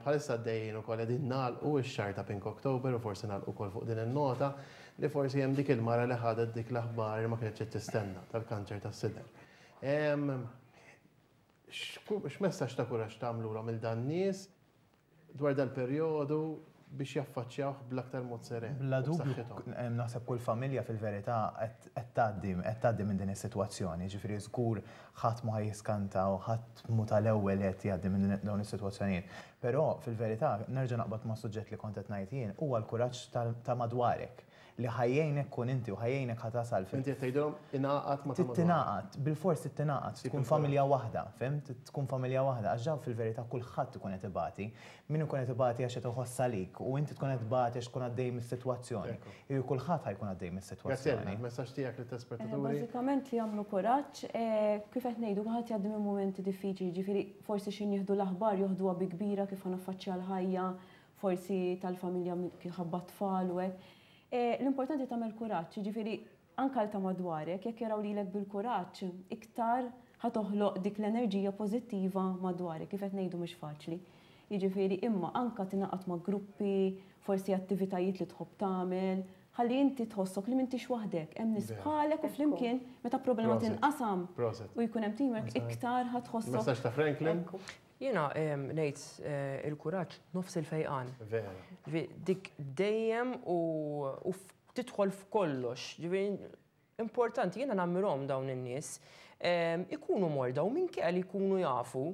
Bħalissa għaddejjin ukoll qegħdin nagħlqu x-xahar ta' Pink October u forsi nagħlqu wkoll fuq din in-nota li forsi hemm dik il-mara li ħadet dik l-aħbar li ma kinitx qed tistenna tal-kanċer tas-sider. X'messaġġ ta' kuraġġ tagħmlulhom lil dan nies dwar dal-perjodu biex jaffaċċjawh bl-aktar mod seren. Bla dubju, naħseb kull familja fil-verità qed tgħaddi qed tgħaddi minn din is-sitwazzjoni, jiġifieri żgur ħadd mhu ħa jiskanta u ħadd mhu tal-ewwel li qed jgħaddi minn dawn is-sitwazzjonijiet. Però fil-verità nerġa' naqbad mas-suġġett li kont qed ngħid jien, huwa l-kuraġġ ta' madwarek. Li ħa jgħinek kun inti u ħa jgħinek ħa tasal fil. Inti qed tgħidilhom ingħaqad ma' ta' madwarek. Tingħaqad, bilfors trid tingħaqad, tkun familja waħda, fhimt? Tkun familja waħda għax dawn fil-verità kulħadd ikun qed ibati. Min ikun qed ibati għax qed iħoss għalik u inti tkun qed tbati għax tkun għaddej mis-sitwazzjoni. Jiġifieri kulħadd ħa jkun għaddej mis-sitwazzjoni. Graziella, il-messaġġ tiegħek lit-telespettaturi? Bażikament li jagħmlu kuraġġ, kif qed ngħidu kulħadd jgħaddi minn mumenti diffiċli, jiġifieri forsi x'ħin jieħdu l-aħbar joħduha bi kbira kif ħa naffaċċja l-ħajja, forsi tal-familja ħabba t-tfal u hekk. L-importanti tagħmel kuraġġ, jiġifieri anke għal ta' madwarek, jekk jaraw lilek bil-kuraġġ, iktar ħa toħloq dik l-enerġija pożittiva madwarek, kif qed ngħidu mhux faċli. Jiġifieri imma anke tingħaqad ma' gruppi, forsi attivitajiet li tħobb tagħmel, ħalli inti tħossok li m'intix waħdek, hemm nies bħalek u flimkien meta problema tinqasam u jkun hemm teamwork iktar ħa tħossok. Messaġġ ta' Franklin? Jiena ngħid il-kuraġġ nofs il-fejqan. Vera. Ġifieri dik dejjem u tidħol f'kollox. Ġifieri importanti jiena nammirhom dawn in-nies. Ikunu morda u minkejja li jkunu jafu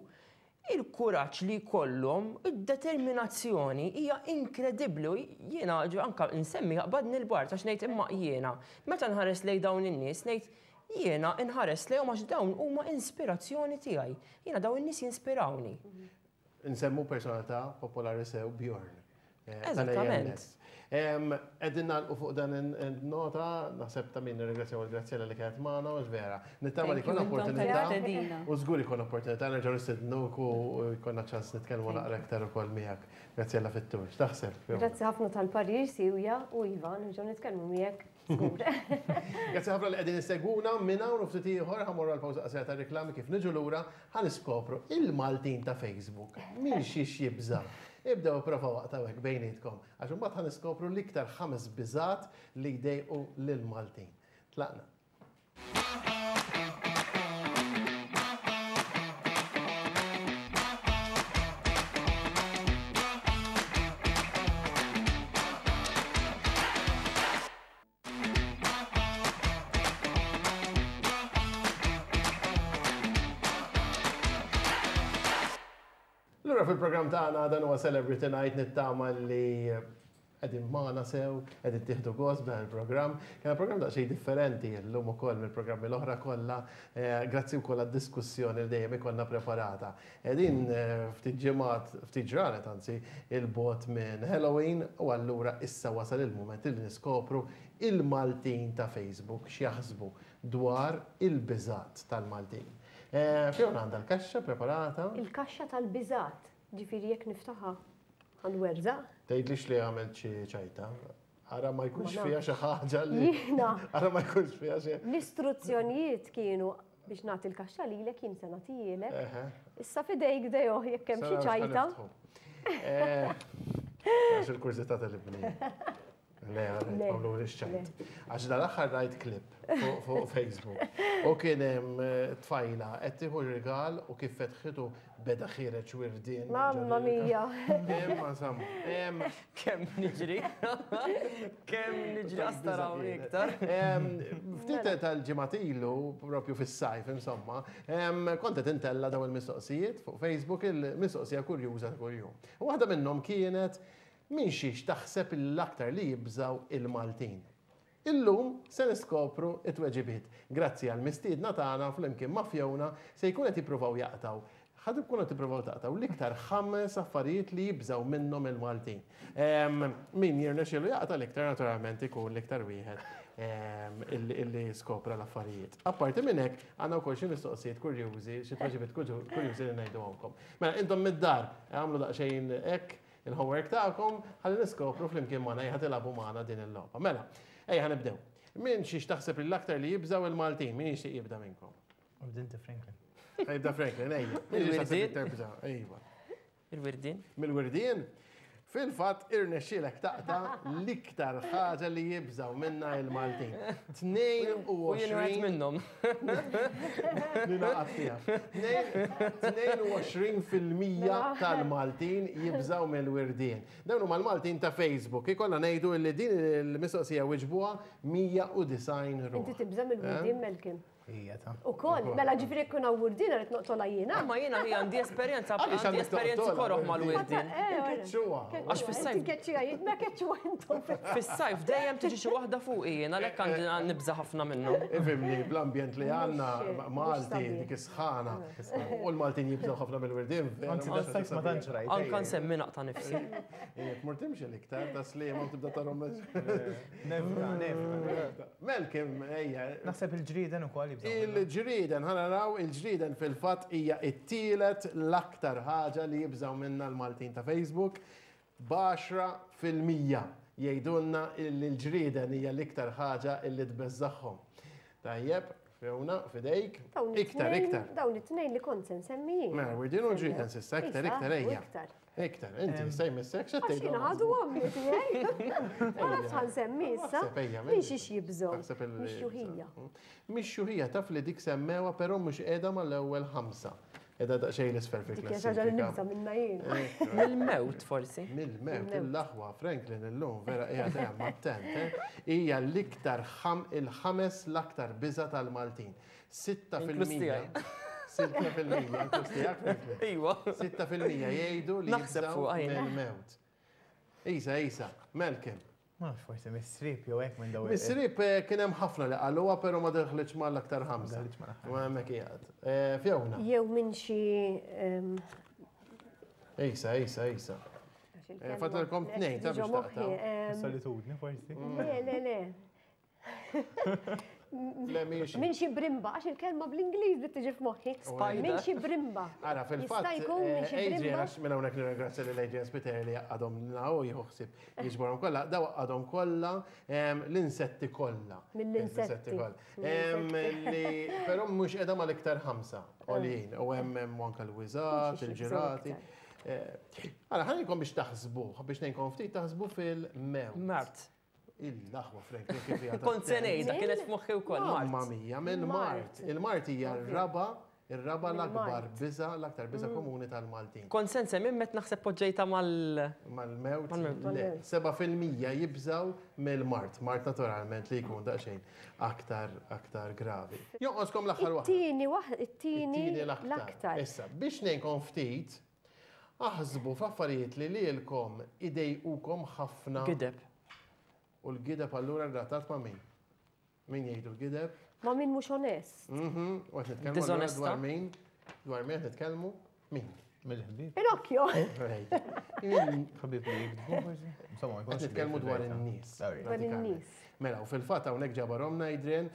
il-kuraġġ li jkollhom, id-determinazzjoni hija inkredibbli u jiena anke nsemmi jaqbadni l-bard għax ngħid imma jiena meta nħares lejn dawn in-nies ngħid Jiena nħares lejhom għax dawn huma inspirazzjoni tiegħi. Jiena dawn in-nies jinspirawni. Insemmu personalità popolari sew Bjorn. Eżattament. Qegħdin nagħlqu fuq dan in-nota, naħseb ta' min nirringrazzjaw il-Graziella li kienet magħna, mhux vera. Nittama li jkollna opportunità. U żgur jkollna opportunità nerġgħu nistednuk u jkollna ċans nitkellmu naqra aktar ukoll miegħek. Graziella fit-tul. X'taħseb? Grazzi ħafna tal-parir siwja u iva, nerġgħu nitkellmu miegħek. Żgur. Grazzi ħafna li qegħdin issegwuna minn hawn u ftit ieħor ħa mmorru għal pawża qasira ta' riklami kif niġu lura ħa niskopru il-Maltin ta' Facebook minn xiex jibża'. Ibdew ipprovaw aqtgħu hekk bejnietkom għax imbagħad ħa niskopru l-iktar ħames biżgħat li jdejqu lill-Maltin. Tlaqna. Lura fil-programm tagħna dan huwa Celebrity Night nittama li qegħdin magħna sew, qegħdin tieħdu gost b'dan il-programm. Kien programm daqsxejn differenti llum ukoll mill-programmi l-oħra kollha, eh, grazzi wkoll għad-diskussjoni li dejjem ikollna preparata. Qegħdin eh, ftit ġimgħat, ftit ġranet anzi, il-bot minn Halloween u allura issa wasal il-mument li niskopru il-Maltin ta' Facebook x'jaħsbu dwar il-biżgħat tal-Maltin. Fiona għandha l-kaxxa preparata. Il-kaxxa tal-biżgħat, ġifieri jekk niftaħha ħa nwerżaq. Tgħidlix li għamilt xi ċajta. Ara ma jkunx fiha xi ħaġa li. Jiena. Ara ma jkunx fiha xi. L-istruzzjonijiet kienu biex nagħti l-kaxxa lilek jien se nagħtihielek. Issa f'idejk Deo jekk hemm xi ċajta. Għax il-kurżità tal-ibni. Le, għamlu l-ċajt. Għax dal-axħar rajt klip fuq Facebook. U kien hemm eh, tfajla qed tieħu rigal u kif fetħitu beda ħireġ wirdien. Mamma mia. Imma samma. Kemm niġri. Kemm niġri astaraw iktar. Ftit tal-ġimgħat ilu, propju fis-sajf insomma, kont qed intella daw il-mistoqsijiet fuq Facebook il-mistoqsija kurjuża ta' kuljum. U waħda minnhom kienet Minn xiex taħseb li l-aktar li jibżgħu il-Maltin? Illum se niskopru t-tweġibiet. Grazzi għall-mistiedna tagħna flimkien ma' Fiona se jkun qed jippruvaw jaqtgħu ħa tkunu qed tippruvaw taqtgħu l-iktar ħames affarijiet li jibżgħu minnhom il-Maltin. Min jirnexxielu jaqta' l-iktar naturalment ikun l-iktar wieħed illi skopra l-affarijiet. Apparti minn hekk għandna wkoll xi mistoqsijiet kurjużi, xi tweġibiet kurjużi li ngħiduhomkom. Mela intom mid-dar għamlu daqsxejn hekk Il-homework tagħkom ħalli niskopru flimkien magħna ejja tilagħbu magħna din il-logħba. Mela, ejja nibdew. Min xiex taħseb li l-aktar li jibżgħu il-Maltin? Min jixtieq jibda minnkom? Ibda Franklin. Jibda Franklin, ejja. Min xiex taħseb li l-aktar Ejwa. Il-wirdien. Mill-wirdien? Fil-fatt irnexxielek taqta' l-iktar ħaġa li jibżgħu minna il-Maltin. 22. U jien wieħed minnhom. Ninaqat fiha. 22% tal-Maltin jibżgħu mill-wirdien. Dawn huma l-Maltin ta' Facebook. Ikollna ngħidu li din il-mistoqsija wiġbuha 190 ruħ. Inti tibża' mill-wirdien Malcolm? Hija ta'. Ukoll, mela ġifieri jekk hawn wurdien rrid noqtolha jiena. Ma jiena hi għandi esperjenza għandi esperjenzi koroh mal-wirdien. Inkeċċuha. Għax fis-sajf. Inkeċċuha jien, ma keċċuha intom. Fis-sajf dejjem tiġi xi waħda fuqi jien għalhekk għandi nibża' ħafna minnhom. Ifhimni, bl-ambjent li għandna Malti dik is-sħana u l-Maltin jibżgħu ħafna mill-wirdien. Anzi, das-sajf ma tantx rajt. Anka nsemmi naqta' nifsi. Jekk mur timxi l-iktar, ta' sliema u tibda tarhom. Nevita, nevita. Melkim, ejja. Naħseb il-ġrieden ukoll jibżgħu. Il-ġrieden, ħa naraw, il-ġrieden fil-fatt hija t-tielet l-aktar ħaġa li jibżgħu minnha l-Maltin ta' Facebook. B'10% jgħidulna li l-ġrieden hija l-iktar ħaġa li tbeżżagħhom. Tajjeb, Fiona, fidejk. Iktar, iktar. Dawn it-tnejn li kont se nsemmi jien. Mela, wirdien u ġrieden s'issa, iktar, iktar, ejja. Iktar. Iktar, inti se jmissek x'qed tgħid. Għax għadu għamli tiegħi. Ma nafx ħa nsemmi issa. Minn xiex jibżgħu. Mix-xjuħija. Mix-xjuħija taf li dik semmewha però mhux qiegħda mal-ewwel ħamsa. Qiegħda daqsxejn l-isfel fil-klassifika. Dik hija xi ħaġa li nibża' minnha jien. Mill-mewt forsi. Mill-mewt, il-aħwa Franklin illum vera qiegħed hemm attent. Eh? Hija l-iktar il-ħames l-aktar biża' tal-Maltin. 6%. 6% inkluż tiegħek Franklin. Iwa. 6% jgħidu li jibżgħu mill-mewt. Isa, Isa, Malcolm. Ma nafx forsi mis-srib jew hekk minn dawn. Mis-srib eh, kien hemm ħafna li qaluha però ma daħlitx mal-aktar ħamsa. Ma hemmhekk qiegħed. Eh, Fiona. Jew minn xi ehm, Isa, isa, isa. Eh, Fadalkom tnejn ta' biex taqtgħu. Ehm, Solitudni forsi. Le, le, le. Le, mhijiex. Minn xi brimba, għax il-kelma bl-Ingliż li tiġi f'moħħi. Spider. Minn xi brimba. Ara, fil-fatt, Jista' jkun minn xi eh, Adrian, brimba. għax minn hawnhekk nirringrazzja lil Adrian Spiteri li għadhom naw jieħu ħsieb jiġborhom kollha, daw għadhom kollha em, l-insetti kollha. Mill-insetti. kollha. Em, Li però mhux qiegħda mal-iktar ħamsa għoljin u hemm hemm anke l-wiżat, Mhux il-ġirati. iktar. Eh, Ara, ħallikom biex taħsbu, biex ngħinkom ftit taħsbu fil-mewt. Mart. Il-aħwa Frank, kif hija Kont se ngħidha, kienet f'moħħi wkoll Mamma Mart. mia, mill-Mart. Il-Mart hija r-raba, ir-raba l-akbar biża, l-aktar biża Mm. komuni tal-Maltin. Kont se nsemmi met naħseb poġġejta mal. Mal-mewt, Mal-mewt. le. 7% jibżaw mill-Mart. Mart naturalment li jkun daqsxejn aktar aktar gravi. Jonqoskom l-aħħar waħda. It-tieni waħ, it-tieni It-tieni l-aktar. Issa, biex ngħinkom ftit, Aħsbu f'affarijiet li lilkom idejqukom ħafna. Gideb. U l-gideb allura relatat ma' min? Min jgħidu l-gideb? Ma' min mhux onest. U qed nitkellmu allura dwar min? Dwar min qed nitkellmu? Min? Mill-ħbieb. Pinocchio. Ħbieb li jikdbu forsi? Insomma, ma jkunx. Nitkellmu dwar in-nies. Dwar in-nies. Mela, u fil-fatt hawnhekk ġabarhom Adrian,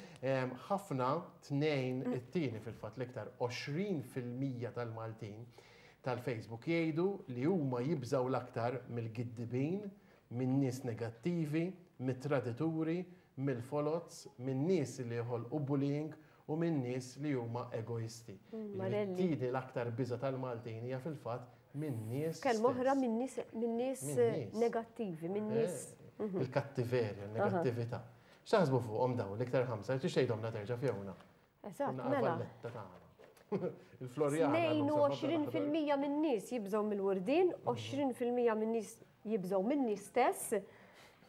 ħafna tnejn it-tieni fil-fatt l-iktar 20% tal-Maltin tal-Facebook jgħidu li huma jibżgħu l-aktar mill-giddibin, minn nies negattivi, mit-tradituri, mill-foloz, minn nies li joħolqu bullying u minn nies li huma egoisti. It-tieni l-aktar biża' tal-Maltin hija fil-fatt minn nies. Kelma oħra minn nies negattivi, minn nies. Il-kattiverja, il-negattività. X'taħsbu fuqhom dawn l-iktar ħamsa? Tix tgħidhomlna terġa' Fiona? Eżatt, mela. Valletta tagħna. Il-Floriana. 22% min-nies jibżgħu mill-wurdien, 20% min-nies jibżgħu min-nies stess,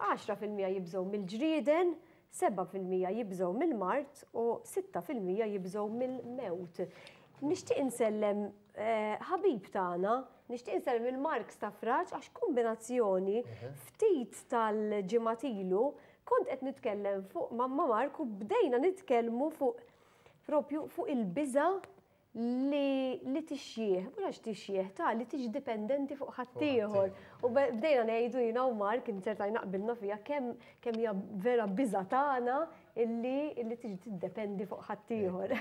10% jibżgħu mill-ġrieden, 7% jibżgħu mill-mard u 6% jibżgħu mill-mewt. Nixtieq insellem eh, ħabib tagħna, nixtieq insellem il-Mark Stafraġ għax kombinazzjoni ftit tal-ġimgħat ilu kont qed nitkellem fuq mamma Mark u bdejna nitkellmu fuq propju fuq il-biża li li tixjieħ, mhux għax tixjieħ ta' li tiġi dipendenti fuq ħaddieħor. U bdejna ngħidu jiena u Mark inzertajna qbilna fiha kemm kemm hija vera biża tagħna illi illi tiġi tiddependi fuq ħaddieħor.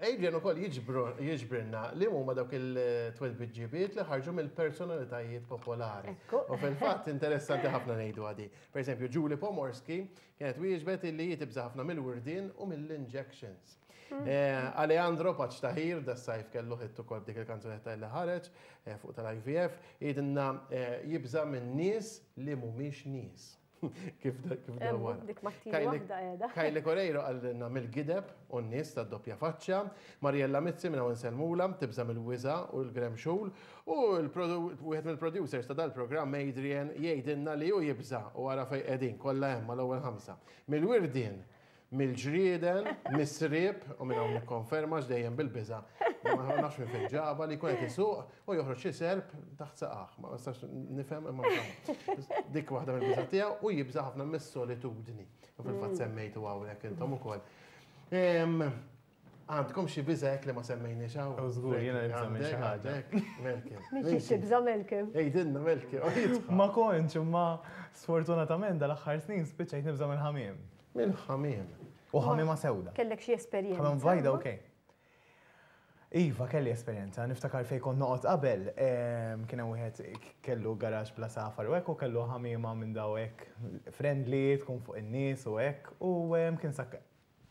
Adrian ukoll jiġbrilna li huma dawk il-twelbiġġibiet li ħarġu mill-personalitajiet popolari. U fil-fatt interessanti ħafna ngħidu għadi. Per eżempju, Julie Pomorski kienet wieġbet illi hi tibża' ħafna mill-wirdien u mill-injections. Alejandro Paċ Tahir, da sajf kellu hit ukoll b'dik il-kanzunetta li ħareġ fuq tal-IVF, jgħidilna jibża' minn nies li mhumiex nies. Kif kif dawwar. Dik mat-tieni waħda qiegħda. Kylie Coreiro qalilna mill-gideb u n-nies tad-doppja faċċa. Mariella Mizzi minn hawn insellmulha, tibża' mill-wiża' u l-gremxul. U wieħed mill-producers ta' dal-programm Adrian jgħidilna li hu jibża' u ara fejn qegħdin kollha hemm mal-ewwel ħamsa. Mill-wirdien Mill-ġrieden, mis-sriep, u minn hawn nikkonferma għax dejjem bil-biża', ma nafx minn fejn ġabha, li jkun qed isuq u joħroġ xi serp taħt saqajh. Ma nistax nifhem imma insomma. Dik waħda mill-biża' tiegħu u jibża' ħafna mis-solitudni. U fil-fatt semmejtu hawnhekk intom ukoll. Għandkom xi biża' hekk li ma semmejniex hawn? Oh, żgur, jiena nibża' minn xi ħaġa. Melkim. Minn xi tibża' Melkim? Għidilna Melkim. Ma kontx, imma sfortunatament dal-aħħar snin spiċċajt nibża' mill-ħamiem. Mill-ħamiem. U ħamiema sewda. Kellek xi esperjenza? Ħamiema bajda, okej. Iva, kelli esperjenza. Niftakar fejn kont noqgħod qabel, kien hemm wieħed kellu garaxx bla safar u hekk u kellu ħamiema minn daw hekk friendly, tkun fuq in-nies u hekk u kien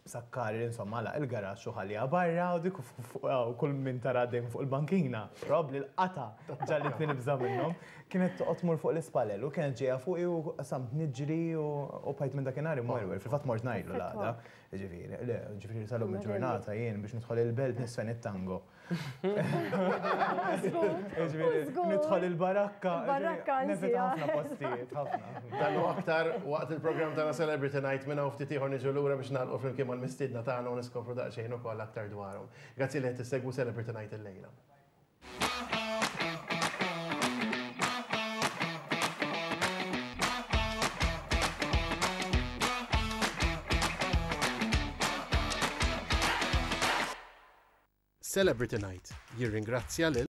sakkar insomma għalaq il-garaxx u ħalliha barra u dik u kull min tara għaddej minn fuq il-bankina, probabbli l-qatgħa ġagħlitni nibża' minnhom, kienet toqgħod tmur fuq l-ispalel u kienet ġejja fuqi u qasamt niġri u bqajt minn dakinhar imwerwer. Fil-fatt mort ngħidlu l-għada, jiġifieri, le, jiġifieri sal-lum il-ġurnata jien biex nidħol il-belt niżfen it-tango. Nidħol il-barakka. Il-barakka Nevita ħafna postijiet, ħafna. Dan u aktar waqt il-programm tagħna Celebrity Night minn hawn ftit ieħor niġu lura biex nagħlqu flimkien mal-mistiedna tagħna u niskopru daqsxejn ukoll aktar dwarhom. Grazzi li qed issegwu Celebrity Night illejla. Celebrity Night jirringrazzja lil.